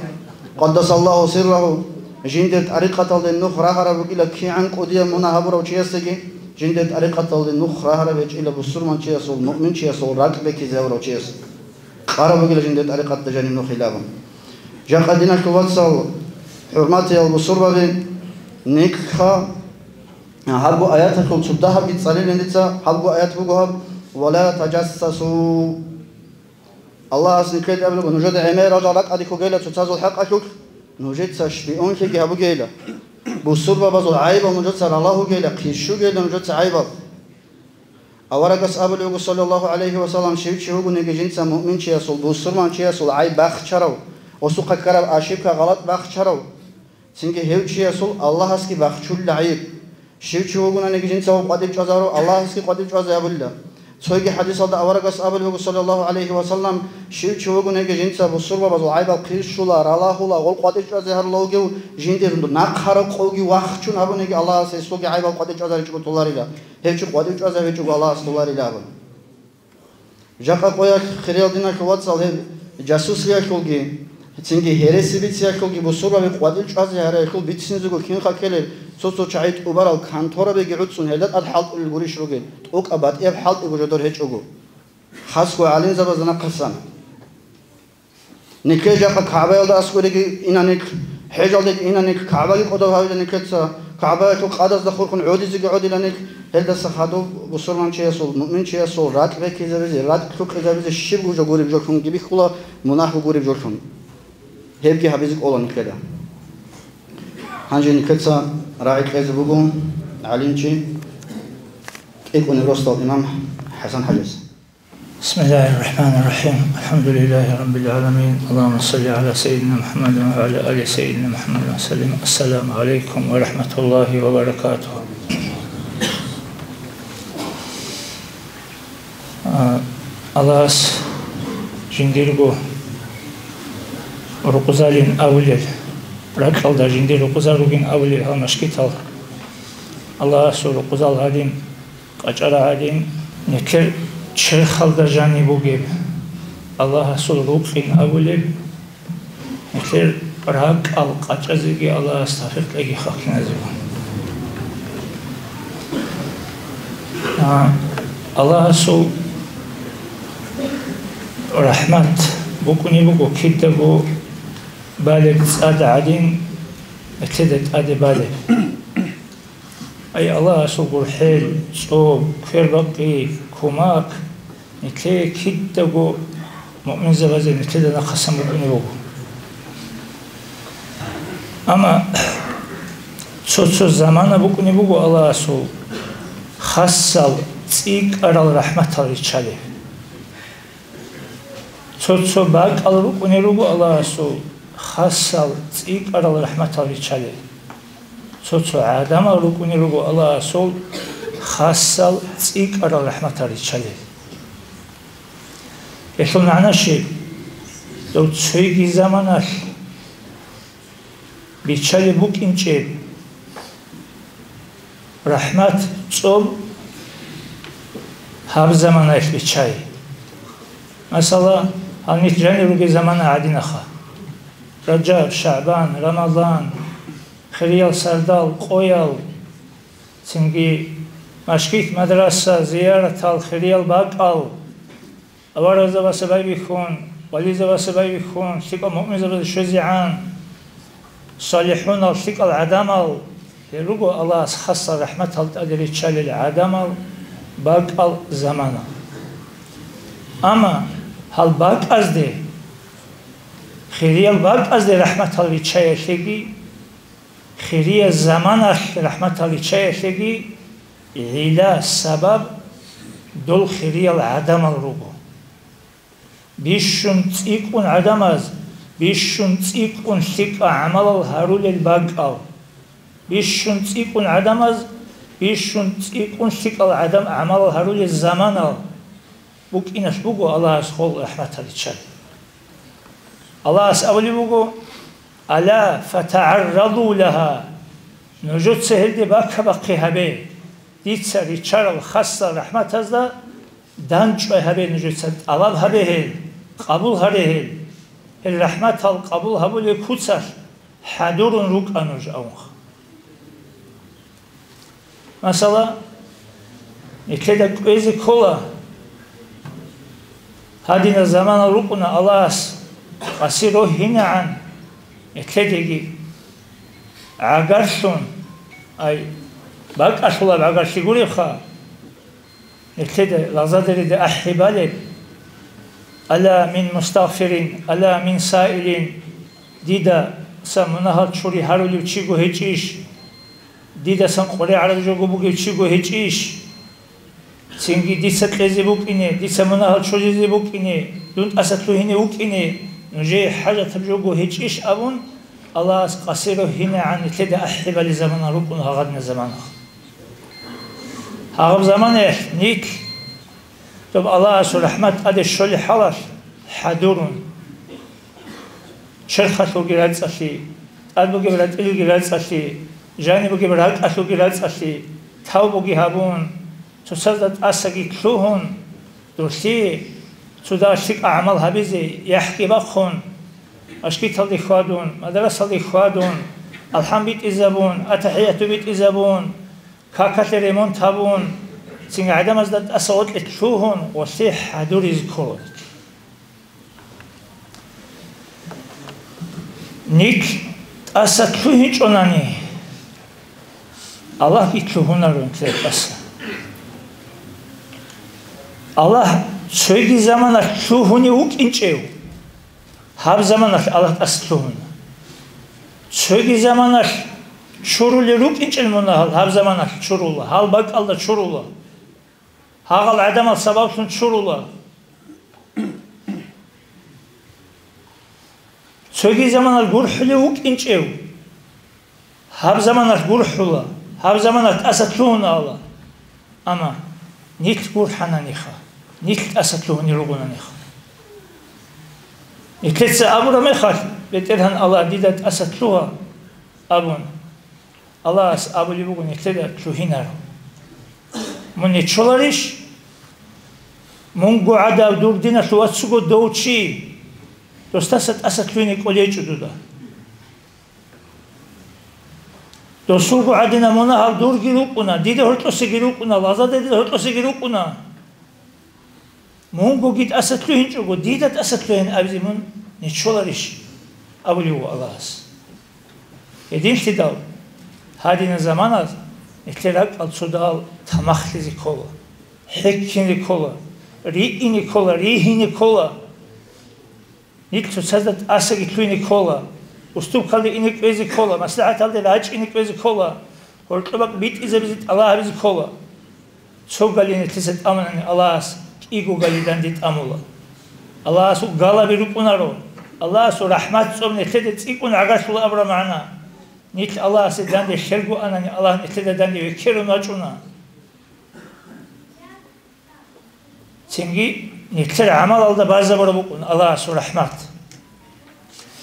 къаддасаллагьу сиррагьу, жиндир тӀарикъаталде нух рагьараб бугила кигӀан кӀудияб мунагь гьабурав чиясеги, жиндир тӀарикъаталде нух рагьараб гьечӀила бусурманчиясул, муъминчиясул ракӀ бекизе гьавурав чияс. Къараб бугила жиндир тӀарикъатда жаниб нухилабун. Жакъа, диналъул вацал, хӀурматиял бусурбаби, никлъха гьабго аяталъул цо дагьабги цӀалилин дица, гьабго аят буго гьаб: «Ва ла таджассасу». Аллагьас никлъеда абулеб буго: «Нужеда гӀемерал жал ракӀалде ккогейила цоцазул хӀакъалъулъ, нужеца шпионлъиги гьабугейила. Бусурбабазул гӀайибал нужеца ралагьугейила, хъизшугейила нужеца гӀайибал». Аварагас абулеб буго, саллаллагьу гӀалайгьи ва саллам, щив чи вугониги жинца муъминчиясул, бусурманчиясул гӀайиб бахчарав, гьесухъа ккараб ошибка, гъалатӀ бахчарав, цинги гьев чиясул Аллагьасги бахчулила гӀайиб. Щив чи вугониги жинца гьев къватӀив чӀвазарав, Аллагьасги къватӀив чӀвазе абулила. Цоги хӀадисалда аварагас абулеб буго, саллаллагьу гӀалайгьи ва саллам, щив чи вугониги жинца бусурбабазул гӀайибал хъизшула, ралагьула, гъол къватӀив чӀвазе гьарулев, жиндир нахъа рокъовги вахчун гьабуниги, Аллагьас гьесулги гӀайибал къватӀив чӀвазаричӀого толарила. Гьев чи къватӀив чӀвазе гьечӀого Аллагьас толарила абун. Жакъа къоялъ, хириял диналъул вацал, гьеб жасусиялъулги, цинги гьереси бициялъулги бусурбаби къватӀив чӀвазе гьариялъул бицинзего кинха ккелел, цо-цо чагӀи тӀубарал конторабиги гӀуцӀун гьелда тӀад хӀалтӀулел гурищ ругел, тӀокӀаб батӀияб хӀалтӀиго жодор гьечӀого. Хасго гӀалимзабазда нахъасан. Никлъе жакъа КагӀбаялда аскӀореги ина никлъ, хӀежалдеги ина никлъ, КагӀбаги кӀодов гьавила никлъеца, КагӀбаялъул къадазда хурхун гӀодизеги гӀодила никлъ, гьелдаса хадуб бусурманчиясул, муъминчиясул ракӀ бекизабизе, ракӀ лъукъизабизе щибго жо гуреб жолъунги бихьула, мунагьго гуреб жолъун. Гьебги гьабизе кӀола никлъеда. Гьанже никлъеца рагӀи кьезе буго гӀалимчи, кӀикӀунеб росдал имам ХӀасан-хӀажас. بسم الله الرحمن الرحيم. الحمد لله رب العالمين. اللهم صل على سيدنا محمد وعلى آل سيدنا محمد وسلم. السلام عليكم ورحمة الله وبركاته. А, Аллагьас жиндирго рукъузалин авулел, ракьалда жиндир рукъузал ругин авулел гьал машгитал, Аллагьасул рукъузал гьадин, къачӀара гьадин, нилъер черхалда жаниб бугеб, Аллагьасул рукъин абулеб, нилъер ракӀал къачӀазеги Аллагьас тавфикъ кьеги хахкиназего. А, Аллагьасул рахӀмат букӀунеб буго кидаго балеб цӀад гӀадин, нилъеда тӀаде балеб. Ай Аллагьасул гурхӀел, цӀоб, квербакъи, кумак нилъее кидаго муъминзабазе нилъеда нахъасан букӀунеб буго. Амма Цо-цо замана букӀунеб буго Аллагьасул хасал цӀикӀкӀарал рахӀматал риччалеб. Цо-цо бакӀал рукӀунел руго Аллагьасул хасал цӀикӀкӀарал рахӀматал риччалел. Цо-цо гӀадамал рукӀунел руго Аллагьасул хасал цӀикӀкӀарал рахӀматал риччалел. Гьелъул магӀна щиб? Дов цоги заманалъ биччалеб букӀинчӀеб рахӀмат, цӀоб гьаб заманаялъ биччай. Масала, гьанир жанир ругел замана гӀадинаха: Ражаб, ШагӀбан, Рамазан, хириял сардал, къоял, цинги машгит, мадраса, зияратал, хириял бакӀал, аварагзабаца байбихьун, вализабаца байбихьун, лъикӀал муъминзабазе щвезегӀан, салихӀунал, лъикӀал гӀадамал, гьел руго Аллагьас хасал рахӀматал тӀаде риччалел гӀадамал, бакӀал, замана. Амма гьал бакӀазде, хириял бакӀазде рахӀматал риччаялъеги, хириял заманалъ рахӀматал риччаялъеги гӀилла, сабаб дол хириял гӀадамал руго. Бищун цӀикӀкӀун гӀадамаз, бищун цӀикӀкӀун лъикӀа гӀамалал гьарулел бакӀал, бищун цӀикӀкӀун гӀадамаз, бищун цӀикӀкӀун лъикӀал гӀадам гӀамалал гьарулел заманал букӀиналъ буго Аллагьас хол рахӀматал риччалел. Аллагьас абулеб буго: «Ала фатагӀарраду лагьа», нужеца гьелде бакабахъи гьабе, дица риччарал хасал рахӀматазда данчӀвай гьабе нужеца, тӀалаб гьабе гьел, къабул гьаре гьел, гьел рахӀматал къабул гьабулел куцалъ хӀадурун рукӀа нуж, абунха. Масала, нилъеда кӀвезе ккола, гьадинал замана рукӀуна Аллагьас къаси рогьинегӀан нилъедеги гӀагарлъун, ай, бакӀалъулаб гӀагарлъи гуребха, нилъеда лагъзадерида ахӀи балеб: «Ала мин мустагъфирин, ала мин саилин», дидасан мунагьал чури гьарулев чиго гьечӀищ? Дидасан къваригӀараб жого бугев чиго гьечӀищ? Цинги дица кьезе букӀине, дица мунагьал чуризе букӀине, дун тӀаса лъугьине вукӀине нужее хӀажатаб жого гьечӀищ абун, Аллагьас къаси рогьинегӀан нилъеда ахӀи балел замана рукӀун гьагъадина замана. Гьагъаб заманаялъ нилъ доб Аллагьасул рахӀмат тӀаде щолеб хӀалалъ хӀадурун, черхалъулги рацӀцӀалъи, тӀад бугеб ратӀилги рацӀцӀалъи, жаниб бугеб ракӀалъулги рацӀцӀалъи, тавбуги гьабун, цоцазда тӀасаги лъугьун, дурлъи цо дагьа лъикӀа гӀамал гьабизе яхӀги бахъун, машгиталде хьвадун, мадрасалде хьвадун, алхӀам битӀизабун, атахӀияту битӀизабун, какалъе ремонт гьабун, цинги гӀадамазда тӀаса гъоркье лъугьун ва лъи хӀадуризе ккола. Нилъ тӀаса лъугьинчӀонани, Аллагьги лъугьунаро нилъер тӀаса. Аллагь цоги заманалъ лъугьунев вукӀинчӀев, гьаб заманалъ Аллагь тӀаса лъугьуна. Цоги заманалъ чурулел рукӀинчӀел мунагьал гьаб заманалъ чурула, гьал бакӀалда чурула. Гьагъал гӀадамал сабаблъун чурула. Цоги заманалъ гурхӀулев вукӀинчӀев, гьаб заманалъ гурхӀула, гьаб заманалъ тӀаса лъугьуна Аллагь. Амма нилъ гурхӀананиха, нилъ тӀаса лъугьунел ругонаниха. Нилъеца абураб мехалъ, БетӀергьан Аллагь, дида тӀаса лъугьа абун, Аллагьас абулеб буго нилъеда лъугьинаро. Мун нечоларищ? Мунго гӀадав дур диналъ вацго дов чи, досдаса тӀаса лъугьине кӀолечӀо дуда. Досулго гӀадина мунагьал дурги рукӀуна, дида гьоркьосеги рукӀуна, лагъзадерида гьоркьосеги рукӀуна. Мунгоги тӀаса лъугьинчӀого, дида тӀаса лъугьин абизе мун нечоларищ? Абулев ву Аллагьас. Гьединлъидал, гьадина заманаз нилъер ракӀал цо дагьал тамахлъизе ккола, хӀеккине ккола, риине ккола, ригьине ккола. Нилъ цоцазда тӀасаги лъугьине ккола. Уступкалде ине кӀвезе ккола, маслахӀаталде рачӀине кӀвезе ккола, гьоркьоб бакӀ битӀизабизе тӀалаб гьабизе ккола. Цо гали нилъеца тӀамунани Аллагьас, кӀиго гали данде тӀамула. Аллагьасул галаби рукӀунаро, Аллагьасул рахӀмат цӀоб нилъеда цӀикӀкӀун гӀагарлъула абураб магӀна. Нилъ Аллагьасе данде херго анани, Аллагь нилъеда данде векерун вачӀуна. Цинги нилъер гӀамалалда базабураб букӀун Аллагьасул рахӀмат.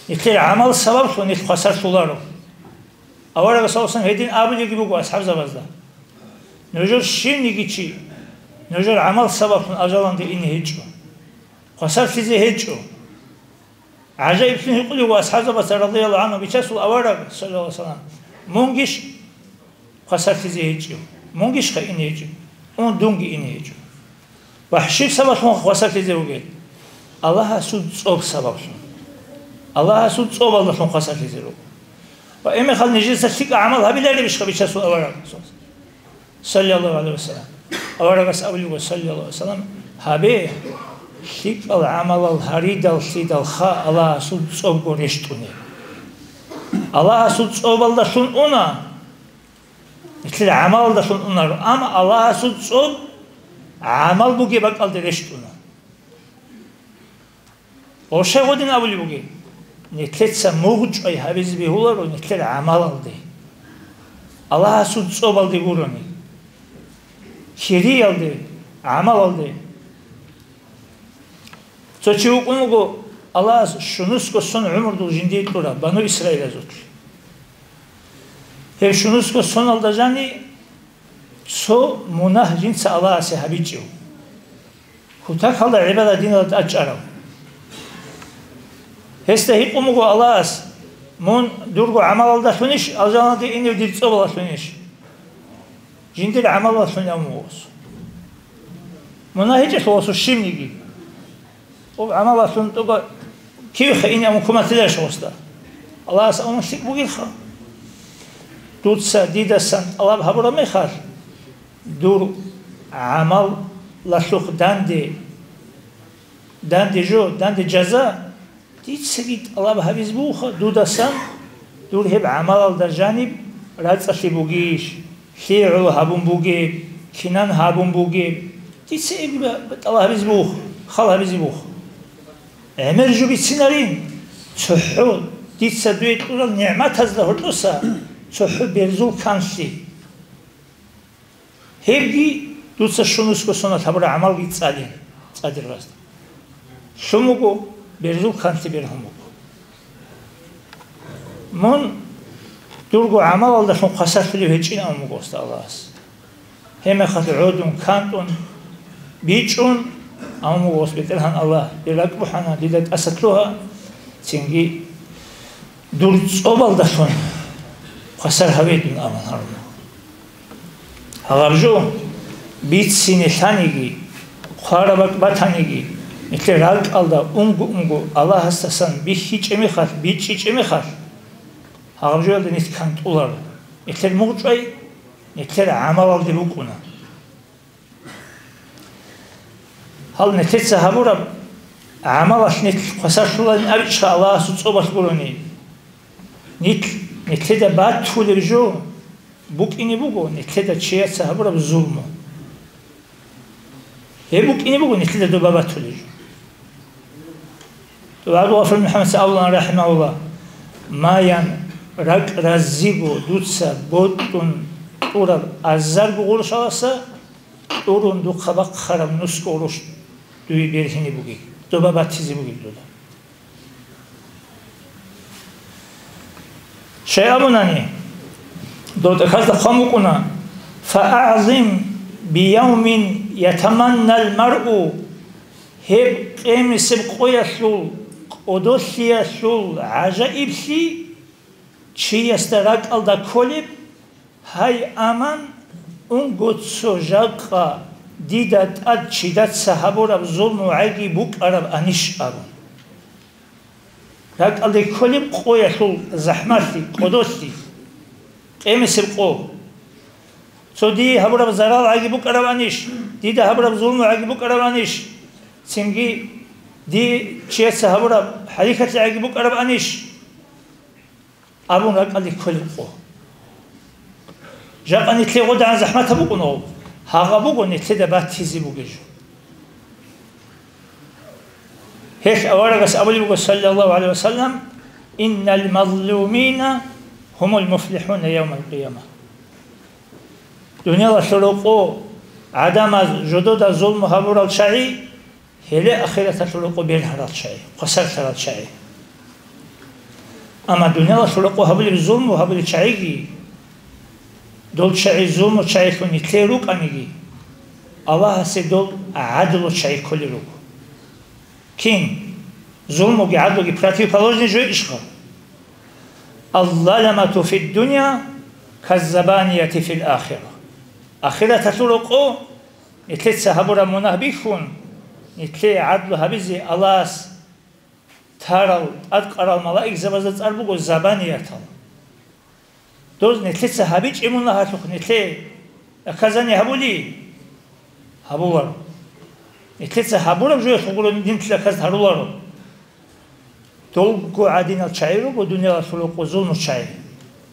Нилъер гӀамал сабаблъун нилъ хвасарлъуларо. Аварагас гьедин абулебги буго асхӀабзабазда: «Нужер щивниги чи нужер гӀамал сабаблъун алжаналде ине гьечӀо, хвасарлъизе гьечӀо». ГӀажаиблъун гьикъулев ва асхӀабзабаца, радияллагьу гӀангьу, бичасул авараг, саллаллагьу гӀалайгьи вассалам, мунгищ хвасарлъизе гьечӀев? Мунгищха ине гьечӀев? Ун, дунги ине гьечӀо. Ва щиб сабаблъун хвасарлъизе ругел? Аллагьасул цӀоб сабаблъун. Аллагьасул цӀобалдалъун хвасарлъизе руго. Ва гьебмехалъ нижеца лъикӀа гӀамал гьабиларебищха бичасул авараг? Саллаллагьу гӀалайгьи вассалам. Аварагас абулеб буго, саллаллагьу гӀалайгьи вассалам: «Гьабе, лъикӀал гӀамалал гьаридал-лъидалха Аллагьасул цӀобго рещтӀунеб». Аллагьасул цӀобалдалъун уна, нилъер гӀамалалдалъун унаро, амма Аллагьасул цӀоб гӀамал бугеб бакӀалде рещтӀуна. Гъошай гъодин абулеб бугеб: нилъеца мугъчӀвай гьабизе бегьуларо нилъер гӀамалалде, Аллагьасул цӀобалде гурони, кириялде, гӀамалалде. Цо чи вукӀун вуго Аллагьас щунусго сон гӀумрудул жиндие кьурав бану Исраилазулъ. Гьеб щунусго соналда жани цо мунагь жинца Аллагьасе гьабичӀев. Кутакалда гӀибадат диналда тӀад чӀарав. Гьесда гьикъун буго Аллагьас: «Мун дурго гӀамалалдалъунищ алжаналде инев, дир цӀобалалъунищ?» Жиндир гӀамалалъун абун буго гьес. Мунагь гьечӀелъул гьесул щибниги. Об гӀамалалъун тӀоба кивеха ине абун куматилаш гьесда. Аллагьас абун лъикӀ бугелха. Дуца дидасан тӀалаб гьабураб мехалъ, дур гӀамалалъухъ данде, данде жо, данде жаза, дицаги тӀалаб гьабизе бугоха дудасан, дур гьеб гӀамалалда жаниб рацӀцӀалъи бугищ, лъигӀал гьабун бугеб, кинан гьабун бугеб, дица гьебги тӀалаб гьабизе бугоха, хал гьабизе бугоха. ГӀемер жо бицинарин, цохӀо дица дуе кьурал нигӀматазда гьоркьоса цохӀо берзул канлъи. Гьебги дуца щунусго соналъ гьабураб гӀамалги цӀалин, цӀадир гъазда. Лъун буго, берзул канлъи бергьун буго. Мун дурго гӀамалалдалъун хвасарлъулев гьечӀин абун буго гьесда Аллагьас. Гьебмехалъ гӀодун, кантӀун, бичӀчӀун, абун буго гьес: «БетӀергьан Аллагь, дир ракӀ бухӀана, дида тӀаса лъугьа, цинги дур цӀобалдалъун хвасар гьаве дун», – абун гьаруна. Гьаб жо бицине лъаниги, хъвараб бакӀ батаниги, нилъер ракӀалда унго-унго Аллагьасдасан бихьичӀеб мехалъ, бичӀчӀичӀеб мехалъ, гьаб жоялда нилъ кантӀуларо. Нилъер мугъчӀвай нилъер гӀамалалде букӀуна. Гьал нилъеца гьабураб гӀамалалъ нилъ хвасарлъуларин абичӀха Аллагьасул цӀобалъ гурони. Нилъ, нилъеда батулеб жо букӀине буго нилъеда чияца гьабураб зулму. Гьеб букӀине буго нилъеда доба батулеб жо. Абу Гъафур МухӀаммадица абула, рахӀимагьуллагь: «Маян, ракӀ разиго дуца бокьун кьураб азарго гъурущаласа кьурун духъа бахъараб нусго гъурущ дуе бергьине бугеб, доба батизе бугеб дуда». Щай абунани, дов тӀахьазда хъван букӀуна: «ФаагӀзим биявмин ятаманнал маръу», гьеб къемисеб къоялъул кӀодолъиялъул гӀажаиблъи чиясда ракӀалда кколеб, гьай, аман, унго цо жакъа дида тӀад чидаца гьабураб зулму гӀаги букӀараб анищ абун. РакӀалде кколеб къоялъул захӀмалъи, кӀодолъи, къемисеб къо. Цо дие гьабураб зарал гӀаги букӀараб анищ, дида гьабураб зулму гӀаги букӀараб анищ, цинги дие чияца гьабураб хӀарикатлъи гӀаги букӀараб анищ? абун ракӀалде кколеб къо. Жакъа нилъее гъодагӀан захӀматаб букӀун гьаб, гьагъаб буго нилъеда батизе бугеб жо. Гьелъ аварагас абулеб буго, саллаллагьу гӀалайгьи ва саллам: «Иннал мазлумина гьумул муфлихӀуна явмал къияма». Дуниялалъул рокъо гӀадамаз жодода зулму гьабурал чагӀи, гьеле ахираталъул рокъо бергьарал чагӀи, хвасарлъарал чагӀи. Амма дуниялалъул рокъо гьабулеб зулму гьабулел чагӀиги, дол чагӀи зулму чагӀилъун нилъее рукӀаниги, Аллагьасе дол гӀадлу чагӀи кколел руго. Кин? Зулмуги гӀадлуги противоположный жо ишха? «Алзаламату фиддуния каззабанияти фил ахира». Ахираталъул рокъо нилъеца гьабураб мунагь бихьун, нилъее гӀадлу гьабизе Аллагьас тарал, тӀадкъарал малаикзабазда цӀар буго забаниятал. Доз нилъеца гьабичӀеб мунагьалъухъ нилъее наказание гьабули? Гьабуларо. Нилъеца гьабураб жоялъухъ гуро нилъ наказ гьаруларо. Долго гӀадинал чагӀи руго дуниялалъул рокъо зулму чагӀи.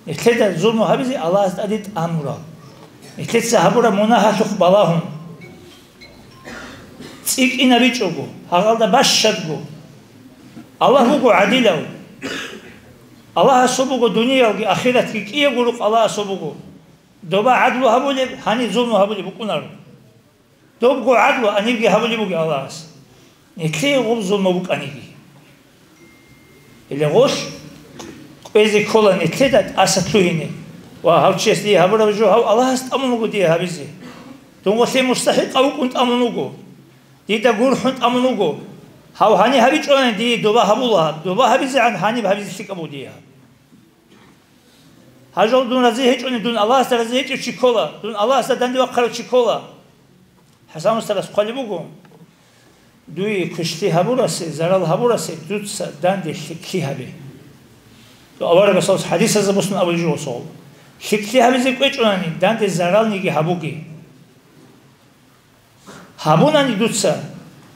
Нилъеда зулму гьабизе Аллагьас тӀаде тӀамурал. Нилъеца гьабураб мунагьалъухъ балагьун. ЦӀикӀкӀинабичӀого, гьагъалда бащадго. Аллагь вуго гӀадилав. Аллагьасул буго дуниялги ахиратги кӀиябго рукъ Аллагьасул буго. Доба гӀадлу гьабулеб, гьаниб зулму гьабулеб букӀунаро. Добго гӀадлу гьанибги гьабулеб буго Аллагьас. Нилъее гъуб зулму букӀаниги. Гьеле гъолъ кӀвезе ккола нилъеда тӀаса лъугьине ва гьав чияс дие гьабураб жо гьав Аллагьас тӀамун вуго дие гьабизе. Дун гъолъе мустахӀикъав вукӀун тӀамун вуго. Дида гурхӀун тӀамун вуго. Гьав гьаниб гьабичӀони дие доба гьабула гьаб. Доба гьабизегӀан гьаниб гьабизе лъикӀаб буго дие гьаб. Гьажал дун рази гьечӀони, дун Аллагьасда рази гьечӀев чи ккола, дун Аллагьасда данде вахъарав чи ккола. ХӀасан устарас хъвалеб буго: «Дуе квешлъи гьабурасе, зарал гьабурасе дуца данде лъикӀлъи гьабе». Аварагасул хӀадисазда босун абулеб жо гъосул: «ЛъикӀлъи гьабизе кӀвечӀонани, данде заралниги гьабуге». Гьабунани дуца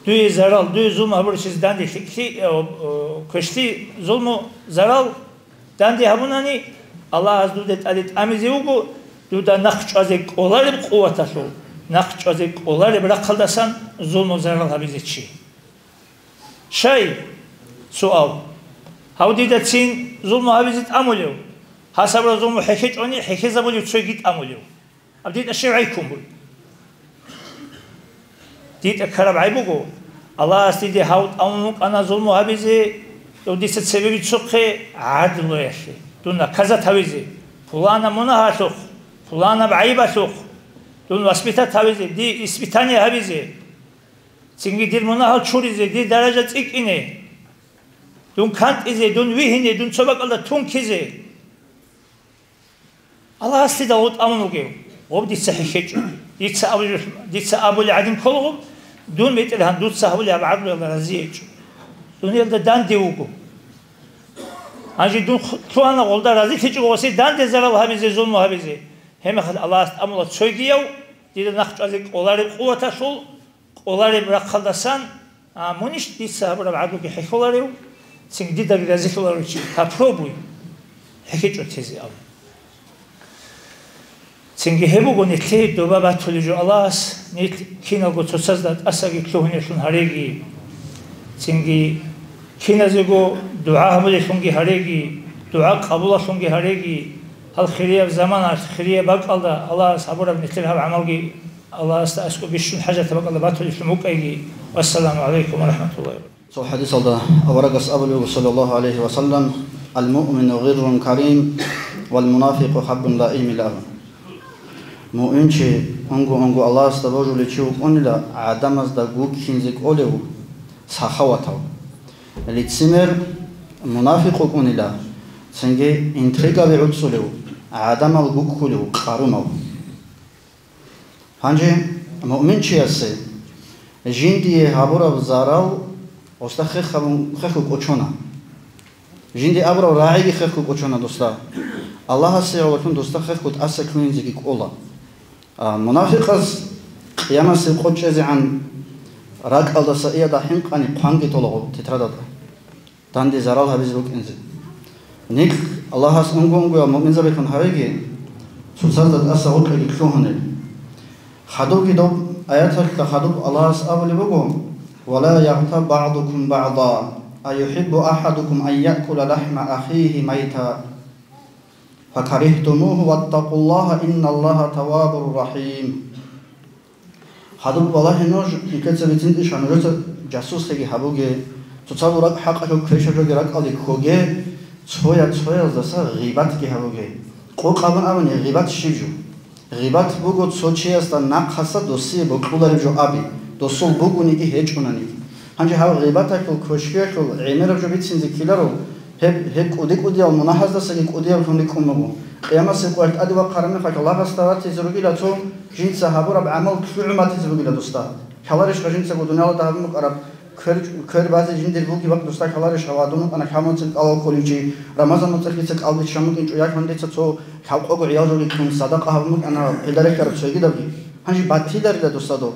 дуе зарал, дуе зулму гьабурасез данде лъикӀлъи, э, э, квешлъи, зулму, зарал данде гьабунани, Аллагьас дуда тӀаде тӀамизе вуго, дуда нахъ чӀвазе кӀолареб къуваталъул, нахъ чӀвазе кӀолареб рахъалдасан зулму, зарал гьабизе чи. Щай? Суал. Гьав дидацин зулму гьабизе тӀамулев? Гьасабра зулму хӀехьечӀони, хӀехьезабулев цойги тӀамулев? Аб дида щив гӀайккун буй? Дида ккараб гӀай буго, Аллагьас диде гьав тӀамун вукӀана зулму гьабизе, дов дица цебе бицухъе гӀадлуялъе, дун наказат гьавизе, пуланаб мунагьалъухъ, пуланаб гӀайибалъухъ, дун воспитат гьавизе, дие испытание гьабизе, цинги дир мунагьал чуризе, дир даража цӀикӀкӀине, дун кантӀизе, дун вигьине, дун цо бакӀалда тункизе. Аллагьас лъидал гъов тӀамун вугев? Гъов дица хӀехьечӀо. Дица абулеб-, дица абулеб гӀадин ккола гъов, дун, БетӀергьан, дуца гьабулеб гьаб гӀадлуялда разиечӀо. Дуниялда данде вуго. Гьанже дун ху-, лъугьана гъолда разилъичӀого гъосе данде зарал гьабизе, зулму гьабизе. Гьебмехалъ Аллагьас тӀамула цойгияв, дида нахъ чӀвазе кӀолареб къуваталъул, кӀолареб рахъалдасан, а, мунищ дица гьабураб гӀадлуги хӀехьоларев, цинги дидаги разилъуларев чи? Попробуй, хӀехьечӀо тезе абун. Цинги гьеб буго нилъее доба батулеб жо Аллагьас, нилъ киналго цоцазда тӀасаги лъугьунеллъун гьареги, цинги киназего дугӀа гьабулеллъунги гьареги, дугӀа къабулаллъунги гьареги, гьал хирияб заманалъ, хирияб бакӀалда Аллагьас гьабураб нилъер гьаб гӀамалги Аллагьасда аскӀоб бищун хӀажатаб бакӀалда батулеллъун букӀайги. Вассаламу гӀалайкум ва рахӀматуллагьи ва баракатугь. Цо хӀадисалда аварагас абулеб, саллаллагьу гӀалайгьи ва саллам: «Ал-муъмину гъиррун карим, вал мунафикъу хаббун лаим», – илан. Муъминчи унго-унго Аллагьасда божулев чи вукӀунила, гӀадамазда гуккинзе кӀолев, сахаватав. Лицемер, мунафикъ вукӀунила, цинги интригаби гӀуцӀулев, гӀадамал гуккулев, къарумав. Гьанже муъминчиясе жиндие гьабураб зарал гъосда хех гьабун, хехго кӀочона. Жинде абураб рагӀиги хехго кӀочона досда. Аллагьасе гӀололъун досда хехго тӀаса ккунинзеги кӀола. А мунафикъаз къиямасеб къо чӀезегӀан ракӀалдаса иялда хӀинкъани хъванги тола гъо тетрадалда. Данде зарал гьабизе букӀинзе. Нилъ Аллагьас унго-унгоял муъминзабилъун гьавеги, цоцазда тӀаса гъоркьеги лъугьунел. Хадубги доб аяталъа хадуб Аллагьас абулеб буго: «Ва ла ягътаб багӀдукум багӀда, а юхӀиббу ахӀадукум ан яъкула лахӀма ахихи майта, факарихтумугьу, ваттакъуллагьа, инналлагьа таввабур рахӀим». Хадуб балагье нуж, никеца бицинтӀиша нужеца жасуслъиги гьабуге, цоцазул ракӀ хӀакъалъул квешаб жоги ракӀалде ккоге, цоял цояздаса гъибатги гьабуге. Къокъ абун абуни, гъибат щиб жо? Гъибат буго цо чиясда нахъаса досие бокьулареб жо аби, досул бугониги гьечӀонаниги. Гьанже гьаб гъибаталъул квешбиялъул гӀемераб жо бицинзе ккеларо, гьеб, гьеб кӀуди-кӀудиял мунагьаздасаги кӀудияб лъун рикӀкӀун буго. Къиямасеб къоялъ тӀаде вахъараб мехалъ лагъасда ватизе ругила цо, жинца гьабураб гӀамал лъугӀун батизе бугила досда. Лъаларищха жинцаго дуниялалда гьабун букӀараб квер, квер базе жиндир бугеб бакӀ досда лъаларищха ва дун вукӀана лъабмацӀил кӀалал кколичи, Рамазан моцӀалъ дица кӀал биччан букӀинчӀо, яхӀун дица цо лъабкъого гӀиял жоги кьун садакъа гьабун букӀана, гьелда рехьараб цойгидабги. Гьанже батиларила досда доб.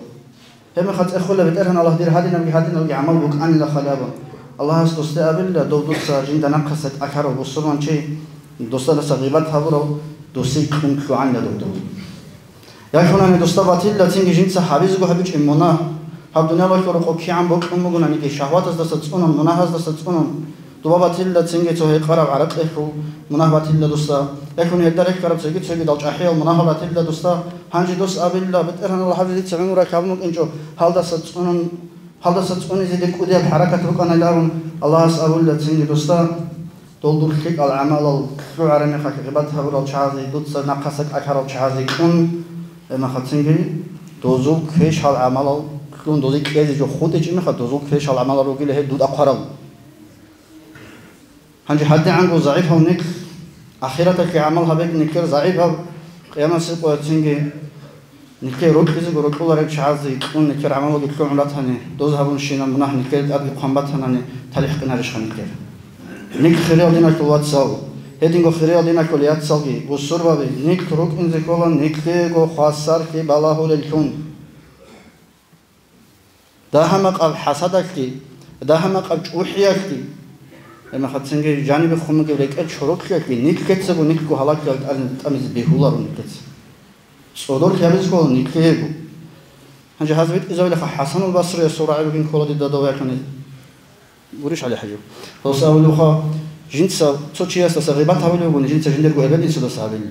Гьебмехалъ цӀехола, БетӀергьан Аллагь, дир гьадинабги гьадинабги гӀамал букӀанила хали абун. Аллагьас досде абилла, дов дуца жинда нахъаса кӀалъарав бусурманчи, досдаса гъибат гьабурав, досие кьун лъугӀанила дов дов. Яхунани досда батилла цинги жинца гьабизего гьабичӀеб мунагь, гьаб дуниялалъул рокъоб кигӀан бокьун бугонаниги, шагьватаздаса цӀунун, мунагьаздаса цӀунун, Дуба батилла цинги цо гьекъараб гӀаракьелъул мунагь батилла досда. Эхун гьелда рехьараб цоги-цогидал чӀахӀиял мунагьал батилла досда. Гьанже дос абилла, БетӀергьан Аллагь, дица гӀумру лъабун букӀинчӀо, гьалдаса цӀунун, гьалдаса цӀунизе дир кӀудияб хӀаракат букӀанайилан абун, Аллагьас абулла цинги досда, дол дур лъикӀал гӀамалал лъугӀараб мехалъ гъибат гьабурал чагӀазе, дуца нахъаса кӀалъарал чагӀазе кьун, гьебмехалъ цинги дозул квешал гӀамалал кьун, дозе кьезе жо хутӀичӀеб мехалъ, дозул квешал гӀамалал ругила гьел дуда хъварал. Гьанже гьадигӀанго загӀипал нилъ, ахираталъе гӀамал гьабеги нилъер загӀипал, къиямасеб къоялъ цинги нилъее рокьизего рокьуларел чагӀазе кьун нилъер гӀамалалги лъугӀун ратани, доз гьабунщинаб мунагь нилъее тӀадги хъван батанани, талихӀ къинарищха нилъер? Нилъ хириял диналъул вацал, гьединго хириял диналъул яцалги, бусурбаби, нилъ рукӀинзе ккола нилъеего хвасарлъи балагьулеллъун. Дагьа-макъаб хӀасадалъги, дагьа-макъаб чӀухӀиялъги, гьебмехалъ цинги жанибе хун бугеб рекӀел чороклъиялъги нилъецаго нилъго гьалакьал тӀамизе бегьуларо нилъеца. ЦӀодорлъи гьабизе ккола нилъеего. Гьанже гьаз битӀизабилаха ХӀасанул Басриясул рагӀи бугин ккола дида дов яхъине. Гурищ, ГӀали-хӀажи? Гьос абулебха, жинца цо чиясдаса гъибат гьабулеб бугони, жинца жиндирго эбел-инсудаса гьабилин.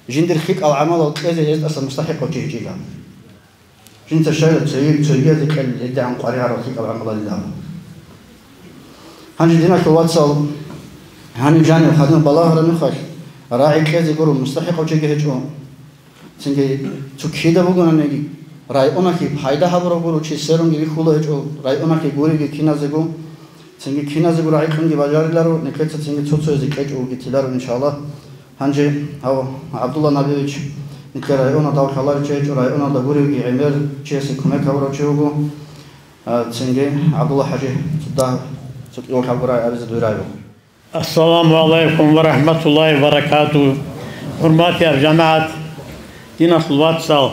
Жиндир лъикӀал гӀамалал кьезе гьездаса мустахӀикъав чи гьечӀила. Жинца щайила цоги-, цогиязе кьел гьедигӀан къваригӀарал лъикӀал гӀамалалилан. Гьанже, диналъул вацал, гьанив жанив хадур балагьараб мехалъ, рагӀи кьезе гуро мустахӀикъав чиги гьечӀо. Цинги цо кида бугонаниги, районалъе пайда гьабурав гуро чи, сверунги вихьула гьечӀо, районалъе гуриги киназего. Цинги киназего рагӀи кьунги бажариларо, нилъеца цинги цо-цоязе кьечӀого тиларо, иншаллагь. Гьанже гьав ГӀабдулла Набиевич, нилъер районал дав лъаларев чи гьечӀо, районалда гуревги гӀемер чиясе кумек гьабурав чи вуго. А, цинги ГӀабдулла ХӀажи, цо дагь, цо кӀиго лъабго рагӀи абизе дуй рагӀи буго. Ассаламу гӀалайкум ва рахӀматуллагьи ва баракатугь. ХӀурматиял жамагӀат, диналъул вацал,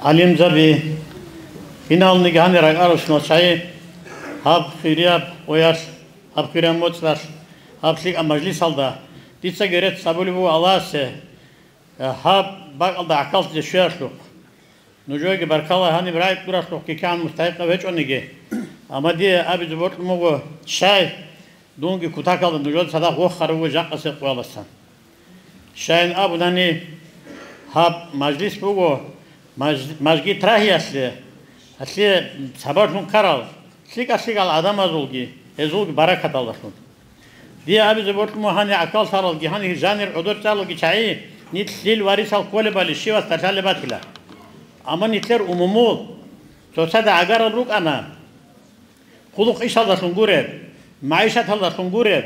гӀалимзаби, киналниги гьанир ракӀаралщинал чагӀи, гьаб хирияб къоялъ, гьаб хирияб моцӀалъ, гьаб лъикӀаб мажлисалда дица герец гьабулеб буго Аллагьасе, гьаб бакӀалда гӀахьаллъизе щвеялъухъ. Нужееги баркала, гьаниб рагӀи кьуралъухъги кигӀан мустахӀикъав гьечӀониги. Амма дие абизе бокьун буго, щай, дунги кутакалда нужеда цадахъ вохарав вуго жакъасеб къоялдасан. Щайин абунани, гьаб мажлис буго маж-, мажгит рагьиялъе, гьалъие сабаблъун ккарал, лъикӀа-лъикӀал гӀадамазулги, гьезулги баракаталдалъун. Дие абизе бокьун буго, гьанир гӀахьаллъаралги, гьанир жанир гӀодор чӀаралги чагӀи, нилъ лъил варисал кколебали щивасда лъалеб батила. Амма нилъер умумул цоцазда гӀагарал рукӀана, хъулухъ-ишалдалъун гуреб, магӀишаталдалъун гуреб,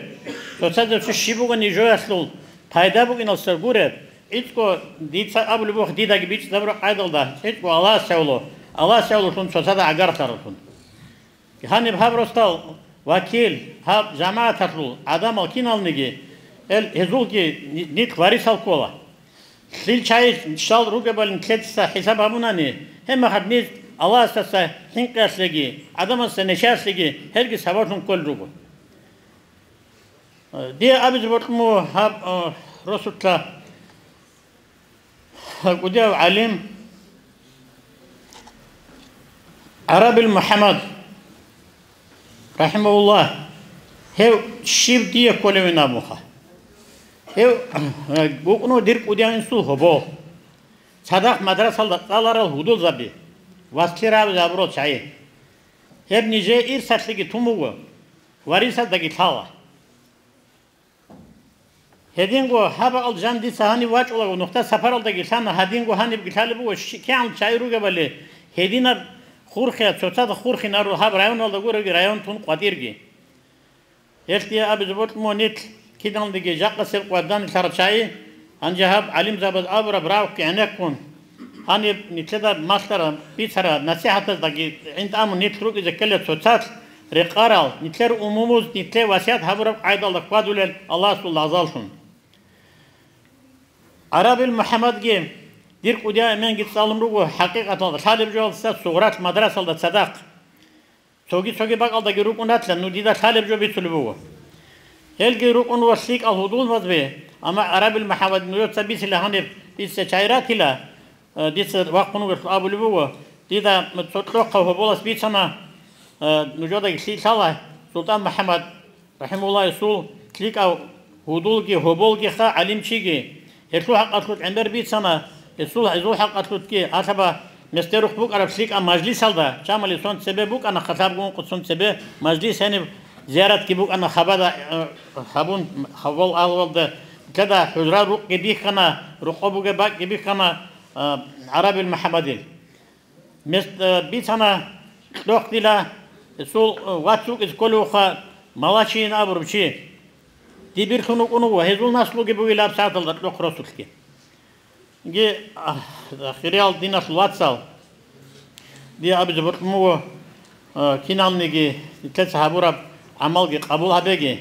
цоцазда цо щиб бугони жоялъул пайда букӀиналдаса гуреб, гӀицӀго дица абулеб буго, дидаги бичӀчӀизабураб къайдалда, гӀицӀго Аллагьас гьавуло, Аллагьас гьавулелъун цоцазда гӀагарлъараллъун. Гьаниб гьаб росдал вакил, гьаб жамагӀаталъул гӀадамал киналниги, эл гьезулги ни-, нилъ варисал ккола. Лъил чагӀи щал ругебали нилъеца хӀисаб гьабунани, гьебмехалъ нилъ Аллагьасдаса хӀинкъиялъеги, гӀадамаздаса нечаялъеги гьелги сабаблъун кколел руго. Дие абизе бокьун буго гьаб, э, росулъа кӀудияв гӀалим ГӀарабил МухӀаммад, рахӀимагьуллагь, гьев щиб дие кколевин абунха. Гьев, э, вукӀун дир кӀудияв инсул гьобо. Цадахъ мадрасалда цӀаларал гьудулзаби, васлъи рагӀабизе гьабурал чагӀи. Гьеб нижее ирсалъеги тун буго, варисалдаги лъала. Гьединго гьаб бакӀалда жаниб дица гьанив вачӀулаго, нухда сапаралдаги лъана, гьадинго гьанибги лъалеб буго, щи-, кигӀан чагӀи ругебали, гьединаб хурхияб, цоцазда хурхинарул гьаб районалда гуроги район тун къватӀирги. Гьелъ дие абизе бокьун буго нилъ киданиги жакъасеб къватӀанилъарал чагӀи, гьанже гьаб гӀалимзабаз абураб равкги гӀенеккун, гьаниб нилъеда малъараб, бицараб насихӀатаздаги гӀинтӀамун нилъ рукӀизе ккела цоцалъ рекъарал, нилъер умумуз нилъее васият гьабураб къайдалда хьвадулел Аллагьасул лагъзаллъун. ГӀарабил МухӀаммадги дир кӀудияв эменги цӀалун руго, хӀакъикъаталда лъалеб жоялдаса сугъралъ мадрасалда цадахъ. Цоги-цоги бакӀалдаги рукӀун ратила, ну дида лъалеб жо бицулеб буго. Гьелги рукӀун ва лъикӀал гьудулзаби, амма ГӀарабил МухӀаммад нужеца бицила гьаниб дица чагӀи ратила, э, дица вахъун вугелъул абулеб буго, дида цо кьохъав гьоболас бицана, э, нужедаги лъикӀ лъала, СултӀан МухӀаммад, рахӀимагьуллагь, гьесул лъикӀав гьудулги, гьоболгиха, гӀалимчиги. Гьелъул хӀакъалъулъ гӀемер бицана, гьесул, гьезул хӀакъалъулъги, гьалъаба местерухъ букӀараб лъикӀаб мажлисалда, чамали сон цебе букӀана, халабгун къуцун цебе мажлис гьениб зияратги букӀана хабада, э, гьабун, хабал агьлуялда, лъада хӀужра рукъги бихьана, рокъоб бугеб бакӀги бихьана, э, ГӀарабил МухӀаммадил. Мес-, э, бицана кьохъ дила, гьесул, э, вац вукӀизе кколевха Малачин абурав чи. Дибирлъун вукӀун вуго, гьезул наслуги бугила гьаб сагӀаталда кьохъ росулъги. Инги, а, хириял диналъул вацал, дие абизе бокьун буго, э, киналниги нилъеца гьабураб гӀамалги къабул гьабеги.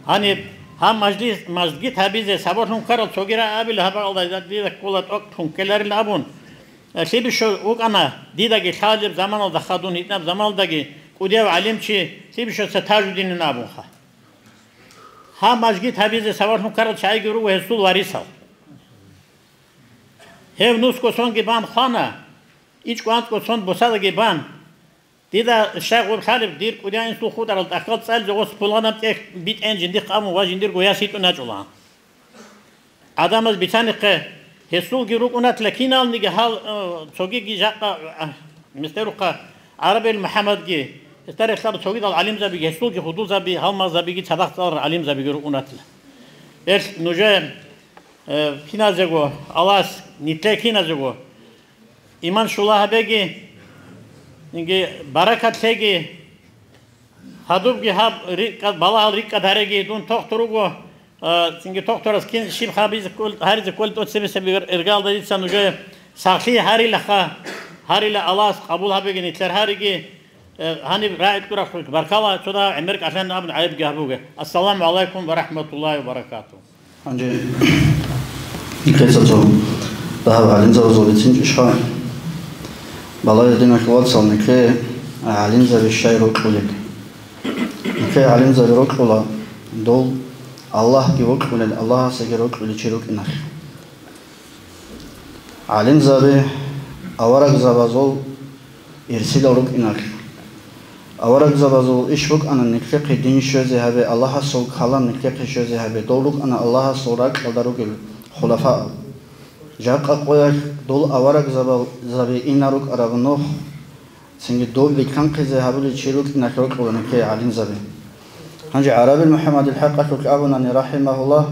Гьаниб гьаб мажлис, мажгит гьабизе сабаблъун ккарал цоги рагӀабила, гьаб бакӀалда дида ккола тӀокӀлъун ккеларил абун. Э, лъибищо вукӀана дидаги лъалеб заманалда хадун, гьитӀинаб заманалдаги кӀудияв гӀалимчи лъибищоца Тажудинин абунха. Гьаб мажгит гьабизе сабаблъун ккарал чагӀиги руго гьесул варисал. Гьев нусго сонги бан хвана, ичӀго-анцӀго сон бусадаги бан. Дида щай гъоб лъалеб, дир кӀудияв инсул хутӀарал тӀахьал цӀализе гъос пуланаб тӀехь битӀен жиндихъ абун ва жиндирго яс йитӀун ячӀулаан. ГӀадамаз бицанихъе, гьесулги рукӀунатла киналниги гьал, э, цогиги жакъа, э, местерухъа ГӀарабил МухӀаммадги, гьесда релълъарал цогидал гӀалимзабиги, гьесулги гьудулзаби, гьалмагъзабиги, цадахъ цӀаларал гӀалимзабиги рукӀунатла. Гьелъ нужее, э, киназего, Аллагьас нилъее киназего иман щула гьабеги, инги баракат лъеги, гьадубги гьаб рикӀкӀад, балагьал рикӀкӀад гьареги, дун тохтур вуго, а, цинги тохтурас кин щиб гьабизе ккол-, гьаризе кколеб тӀоцебесеб эр-, эргалда дица нужее сахлъи гьарилаха, гьарила Аллагьас къабул гьабеги нилъер гьариги, э, гьаниб рагӀи кьурахъулъ баркала, цо дагьаб гӀемер кӀалъан абун гӀайибги гьабуге. Ассаламу гӀалайкум ва рахӀматуллагьи ва баракатугь. Гьанже нилъеца цо дагьаб гӀалимзабазул бицинчӀищха? Балагье, диналъул вацал, нилъее гӀалимзаби щай рокьулел? Нилъее гӀалимзаби рокьула дол Аллагьги вокьулел, Аллагьасеги рокьулев чи рукӀиналъ. ГӀалимзаби аварагзабазул ирсилал рукӀиналъ. Аварагзабазул иш букӀана нилъехъе дин щвезе гьабе, Аллагьасул калам нилъехъе щвезе гьабе, дол рукӀана Аллагьасул ракьалда ругел хулафаал. Жакъа къоялъ дол аварагзабал-, заби ина рукӀараб Нух, цинги дол рилълъанхъизе гьабулел чи рукӀиналъ рокьула нилъее гӀалимзаби. Гьанже ГӀарабил МухӀаммадил хӀакъалъулъ абунани, рахӀимагьуллагь,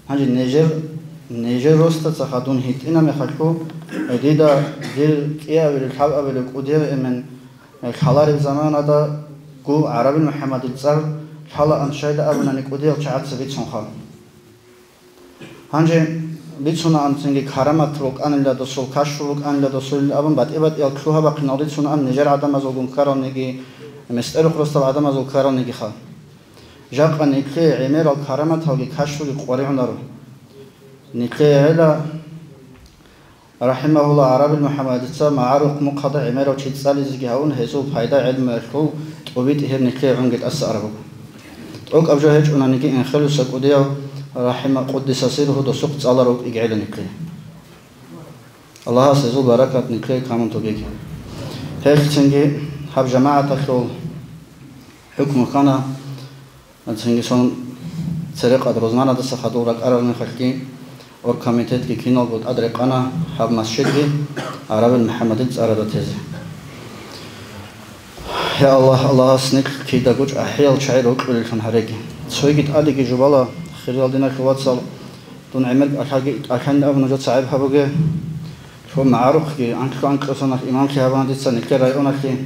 гьанже нижер, нижер росдаца хадун гьитӀина мехалъго, дида дир кӀиабилев, лъабабилев кӀудияв эмен лъалареб заманадаго ГӀарабил МухӀаммадил цӀар лъалаан щайда абунани, кӀудиял чагӀаца бицунха. Гьанже бицунаан цинги карамат рукӀанила досул, кашфу рукӀанила досул абун, батӀи-батӀиял лъугьа-бахъинал рицунаан нижер гӀадамазулгун ккаралниги, местерухъ росдал гӀадамазул ккаралнигиха. Жакъа нилъее гӀемерал караматалги кашфуги къваригӀунаро. Нилъее гӀела, рахӀимагьуллагь, ГӀарабил МухӀаммадица магӀарухъ мухъалда гӀемерав чи цӀализеги гьавун, гьезул пайда гӀелмуялъул тӀубитӀи гьеб нилъее гӀунги тӀаса араб буго. ТӀокӀаб жо гьечӀонаниги, Энхелуса кӀудияв, рахӀима къуддиса сирругьу, досухъ цӀаларав вукӀиги гӀела никлъи. Аллагьас гьезул баракат никлъее камун тогеги. Гьелъцинги гьаб жамагӀаталъул хӀукму ккана, цинги сон церекъад рузманадаса хадув ракӀарал мехалъги, оргкомитетги киналго тӀад рекъана гьаб масжидги ГӀарабил МухӀаммадил цӀарада тезе. Я Аллагь, Аллагьас никлъ кидаго чӀахӀиял чагӀи рокьулеллъун гьареги. Цойги тӀадеги жубала, хириял диналъул вацал, дун гӀемер кӀалъаги кӀалъани абун нужеца гӀайб гьабуге. Цо магӀарухъги анкьго-анкьго соналъ имамлъи гьабуна дица никлъер районалъе,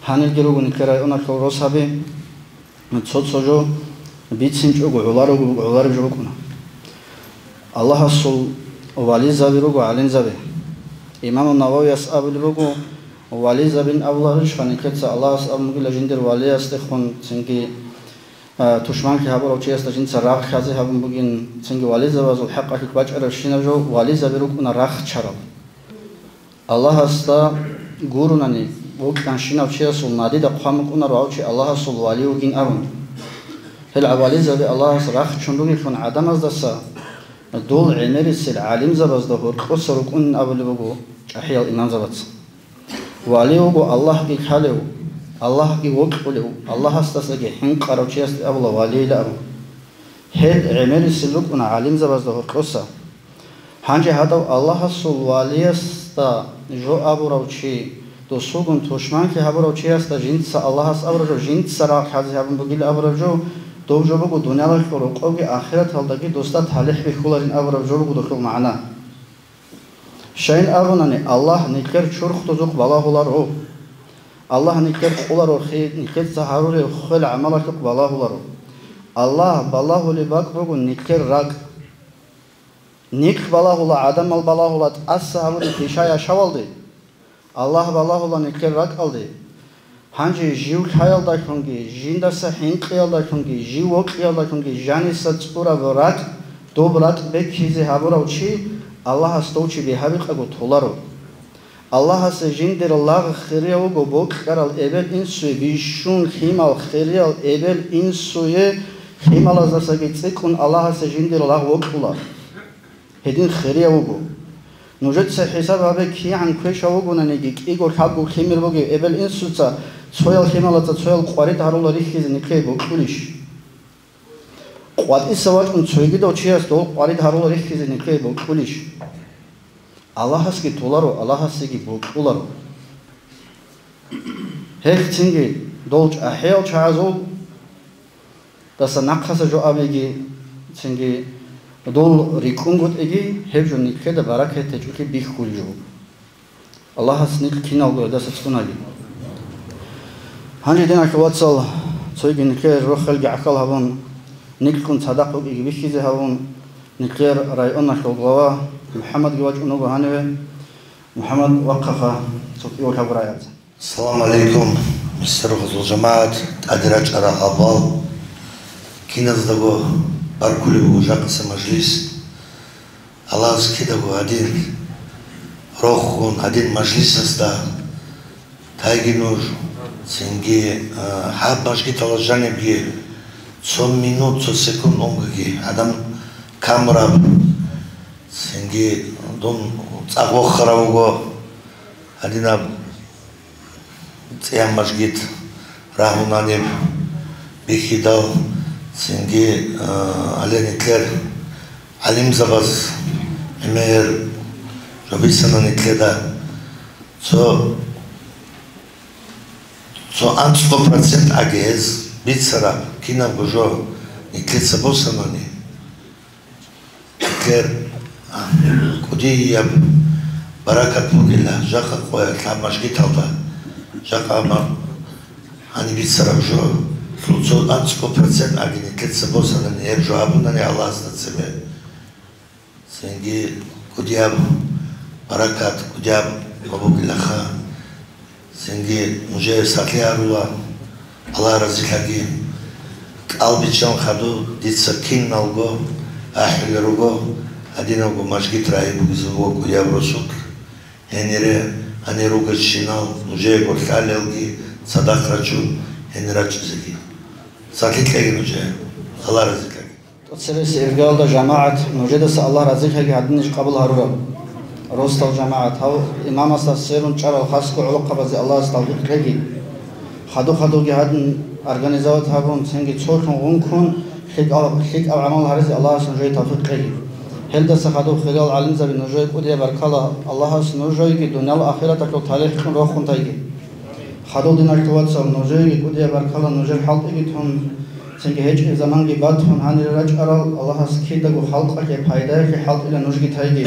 гьанилги руго никлъер районалъул росаби. Цо-цо жо бицинчӀого гӀоларого, гӀолареб жо букӀуна. Аллагьасул вализаби руго гӀалимзаби. Имаму Нававияс абулеб буго, вализабин абуларищха никлъеца Аллагьас абун бугила жиндир валиясдехун, цинги, а, тушманлъи гьабурав чиясда жинца рагъ лъазе гьабун бугин, цинги вализабазул хӀакъалъулъ бачӀарабщинаб жо вализаби рукӀуна рахчарал. Аллагьасда гурунани, вукьанщинав чиясул надида хъван букӀунаро гьав чи Аллагьасул вали вугин абун. Гьел гӀавализаби Аллагьас рахчун ругелъун гӀадамаздаса дол гӀемерисел гӀалимзабазда гьоркьоса рукӀунин абулеб буго чӀахӀиял имамзабаца. Вали вуго Аллагьги лъалев, Аллагьги вокьулев, Аллагьасдасаги хӀинкъарав чиясде абула валийилан абун. Гьел гӀемерисел рукӀуна гӀалимзабазда гьоркьоса. Гьанже гьадав Аллагьасул валиясда жо абурав чи, досулгун тушманлъи гьабурав чиясда жинца Аллагьас абураб жо, жинца рагъ лъазе гьабун бугил абураб жо, дов жо буго дуниялалъул рокъовги ахираталдаги досда талихӀ бихьуларин абураб жо буго дохул магӀна. Щайин абунани, Аллагь никлъер чурхдузухъ балагьуларо. Аллагь никлъер къуларухъе, никлъеца гьарурев хвел гӀамалалъухъ балагьуларо. Аллагь балагьулеб бакӀ буго никлъер ракӀ. Никлъ балагьула, гӀадамал балагьула тӀаса гьабуреб пиша яшавалде. Аллагь балагьула никлъер ракӀалде. Гьанже жив лъаялдалъунги, жиндаса хӀинкъиялдалъунги, жив вокьиялдалъунги жаниса цӀураб ракӀ, доб ракӀ бекизе гьабурав чи Аллагьас дов чи бигьа-бикъаго толаро. Аллагьасе жиндир лагъ хирияв вуго бокьарал эбел-инсуе, бищун лъимал хириял эбел-инсуе, лъималаздасаги цӀикӀкӀун Аллагьасе жиндир лагъ вокьула. Гьедин хирияв вуго. Нужеца хӀисаб гьабе, кигӀан квешав вугонаниги, кӀиго-лъабго лъимер бугев эбел-инсуца цоял лъималаца цоял къварид гьарула рихьизе никлъее бокьулищ? КъватӀиса вачӀун цойгидав чияс дол къварид гьарула рихьизе никлъее бокьулищ? Аллагьасги толаро, Аллагьасеги бокьуларо. Гьелъ цинги дол чӀахӀиял чагӀазул даса нахъаса жо абиги, цинги дол рикӀкӀунгутӀиги, гьеб жо никлъеда баракат гьечӀолъи бихьулел жо. Аллагьас никлъ киналго гьелдаса цӀунаги. Гьанже, диналъул вацал, цойги никлъер рохелги гӀахьал гьабун, никлъун цадахъ вукӀиги бихьизе гьабун, никлъер районалъул глава МухӀаммадги вачӀун вуго гьаниве. МухӀаммад, вахъаха, цо кӀиго-лъабго рагӀи абизе. Ассаламу гӀалайкум, мессерухъазул жамагӀат, тӀаде рачӀарал гьалбал, киназдаго баркулеб буго жакъаса мажлис. Аллагьас кидаго гьадин рохун, гьадин мажлисасда тайги нуж, цинги, а, гьаб мажгиталда жанибги цо минут, цо секунд унгоги гӀадан камураб, цинги дун цӀакъ вохарав вуго гьадинаб цӀеян мажгит рагьунаниб бихьидал, цинги, а, гьале никлъер гӀалимзабаз гӀемер жо бицана никлъеда. Цо, цо анцӀго процент агез бицараб кинабго жо никлъеца босанани, Гьелъер, а, кӀудияб баракат бугила, жакъа къоялъ гьаб мажгиталда, жакъа ма-, гьаниб бицараб жо, цо анцӀго процент аги нилъеца босанани гьеб жо гьабунани Аллагьасда цебе. Цинги кӀудияб баракат, кӀудияб ма бугилаха. Цинги нужее сахлъи гьарула, Аллагь разилъаги. КӀал биччан хадуб, дица киналго ахӀулел руго, гьадинабго мажгит рагьи бугезабуго кӀудияб росулъ. Гьенире гьанир ругелщинал нужеего лъалелги, цадахъ рачун, гьенир рачӀизеги. Сахлъи кьеги нужее. Аллагь разилъаги. ТӀоцебесеб иргаялда, жамагӀат, нужедаса Аллагь разилъаги, гьадинищ къабул гьарураб. Росдал жамагӀат, гьав имамасда сверун чӀарал хасго гӀолохъабазе Аллагьас тавфикъ кьеги. Хадуб-хадубги гьадин организовать гьабун, цинги цолъун гъункун, лъикӀал-, лъикӀаб гӀамал гьаризе Аллагьас нужее тавфикъ кьеги. Гьелдаса хадуб, хириял гӀалимзаби, нужее кӀудияб баркала, Аллагьас нужееги дуниял ахираталъул талихӀ кьун рохун тайги. Хадуб, диналъул вацал, нужееги кӀудияб баркала, нужер хӀалтӀиги тун, цинги гьечӀеб заманги батун гьанире рачӀарал, Аллагьас кидаго халкъалъе пайдаялъе хӀалтӀила нужги тайги.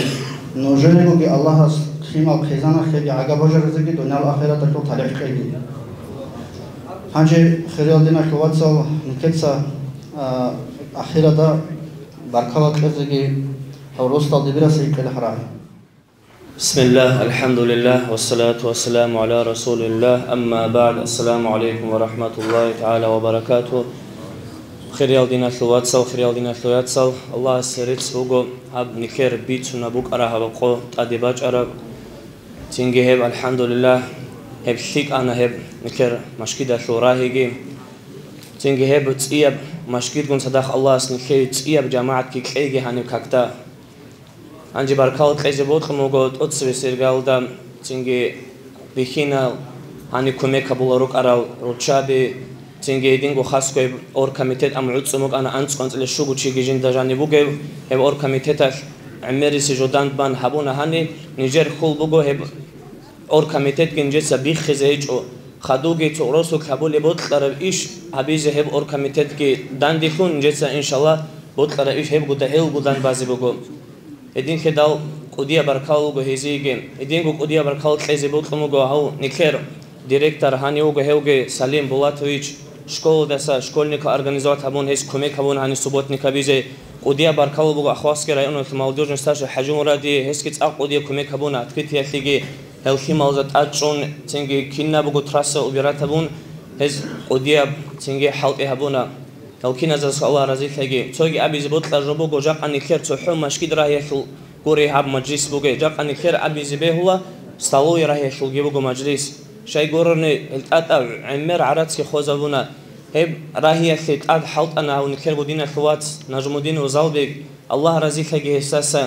Нужерегоги Аллагьас лъимал хъизаналъеги гӀага бажаразеги дуниял ахираталъул талихӀ кьеги. Гьанже, хириял диналъул вацал, нилъеца, а, ахирада баркала кьезеги гьав росдал дибираса гьикъила гьарай. بسم الله، الحمد لله، والصلاة والسلام على رسول الله، أما بعد، السلام عليكم ورحمة الله تعالى وبركاته. Хириял диналъул вацал, хириял диналъул яцал, Аллагьасе рецц буго гьаб нилъер бицунеб букӀараб гьаб къо тӀаде бачӀараб. Цинги гьеб, алхӀамдулиллагь, гьеб лъикӀана гьеб нилъер машгидалъул рагьиги. Цинги гьеб цӀияб машгидгун цадахъ Аллагьас нилъее цӀияб жамагӀатги кьейги гьаниб какда. Гьанже баркала кьезе бокьун буго тӀоцебесеб иргаялда, цинги бихьинал, гьаниб кумек гьабулел рукӀарал руччаби, цинги гьединго хасго гьеб оргкомитет, амма гӀуцӀун букӀана анцӀго-анцӀила щуго чиги жинда жаниб бугеб, гьеб оргкомитеталъ гӀемерисеб жо дандбан гьабуна гьаниб, нижер хьул буго гьеб оргкомитетги нижеца биххизе гьечӀо, хадубги цо росулъ гьабулеб бокьараб иш гьабизе гьеб оргкомитетги данделъун нижеца, иншаллагь, бокьараб иш гьебгуда гьелгудан базе буго. Гьединлъидал кӀудияб баркала буго гьезиеги. Гьединго кӀудияб баркала кьезе бокьун буго гьав нилъер директор гьанив вуго гьевги Салим Булатович, школадаса школьникал организовать гьабун, гьес кумек гьабун гьанив субботник гьабизе. КӀудияб баркала буго Ахвахский районалъул молодёжный старший ХӀажимурадие, гьесги цӀакъ кӀудияб кумек гьабуна открытиялъеги, гьел лъималазда тӀад чӀун, цинги кинабго трасса убирать гьабун, гьез кӀудияб цинги хӀалтӀи гьабуна. Гьел киназдаго Аллагь разилъаги. Цоги абизе бокьараб жо буго, жакъа нилъер цохӀо машгид рагьиялъул гури гьаб мажлис бугеб, жакъа нилъер абизе бегьула столовый рагьиялъулги буго мажлис. Щай гурони, гьел тӀатӀа гӀемер гӀарацги хвезабуна. Гьеб рагьиялъе тӀад хӀалтӀана гьав нилъерго диналъул вац Нажмудинов Залбек, Аллагь разилъаги гьесдаса.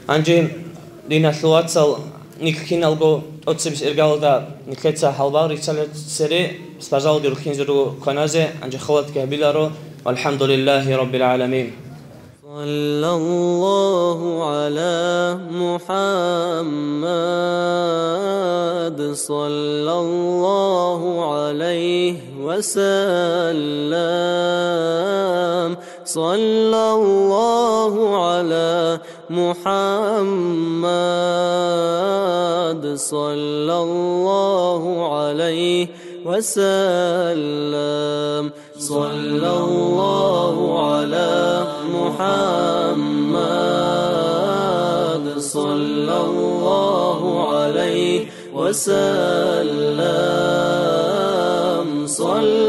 Гьанже, диналъул вацал, нилъ киналго тӀоцебесеб иргаялда нилъеца гьалбал рицалел цере, спазалги рухинзе руго кваназе, гьанже халатги гьабиларо. ВалхӀамдулиллагьи раббил гӀаламин. صلى الله على محمد، صلى الله عليه وسلم، صلى الله على محمد، صلى الله عليه وسلم، صلى الله على محمد، صلى الله عليه وسلم، صلى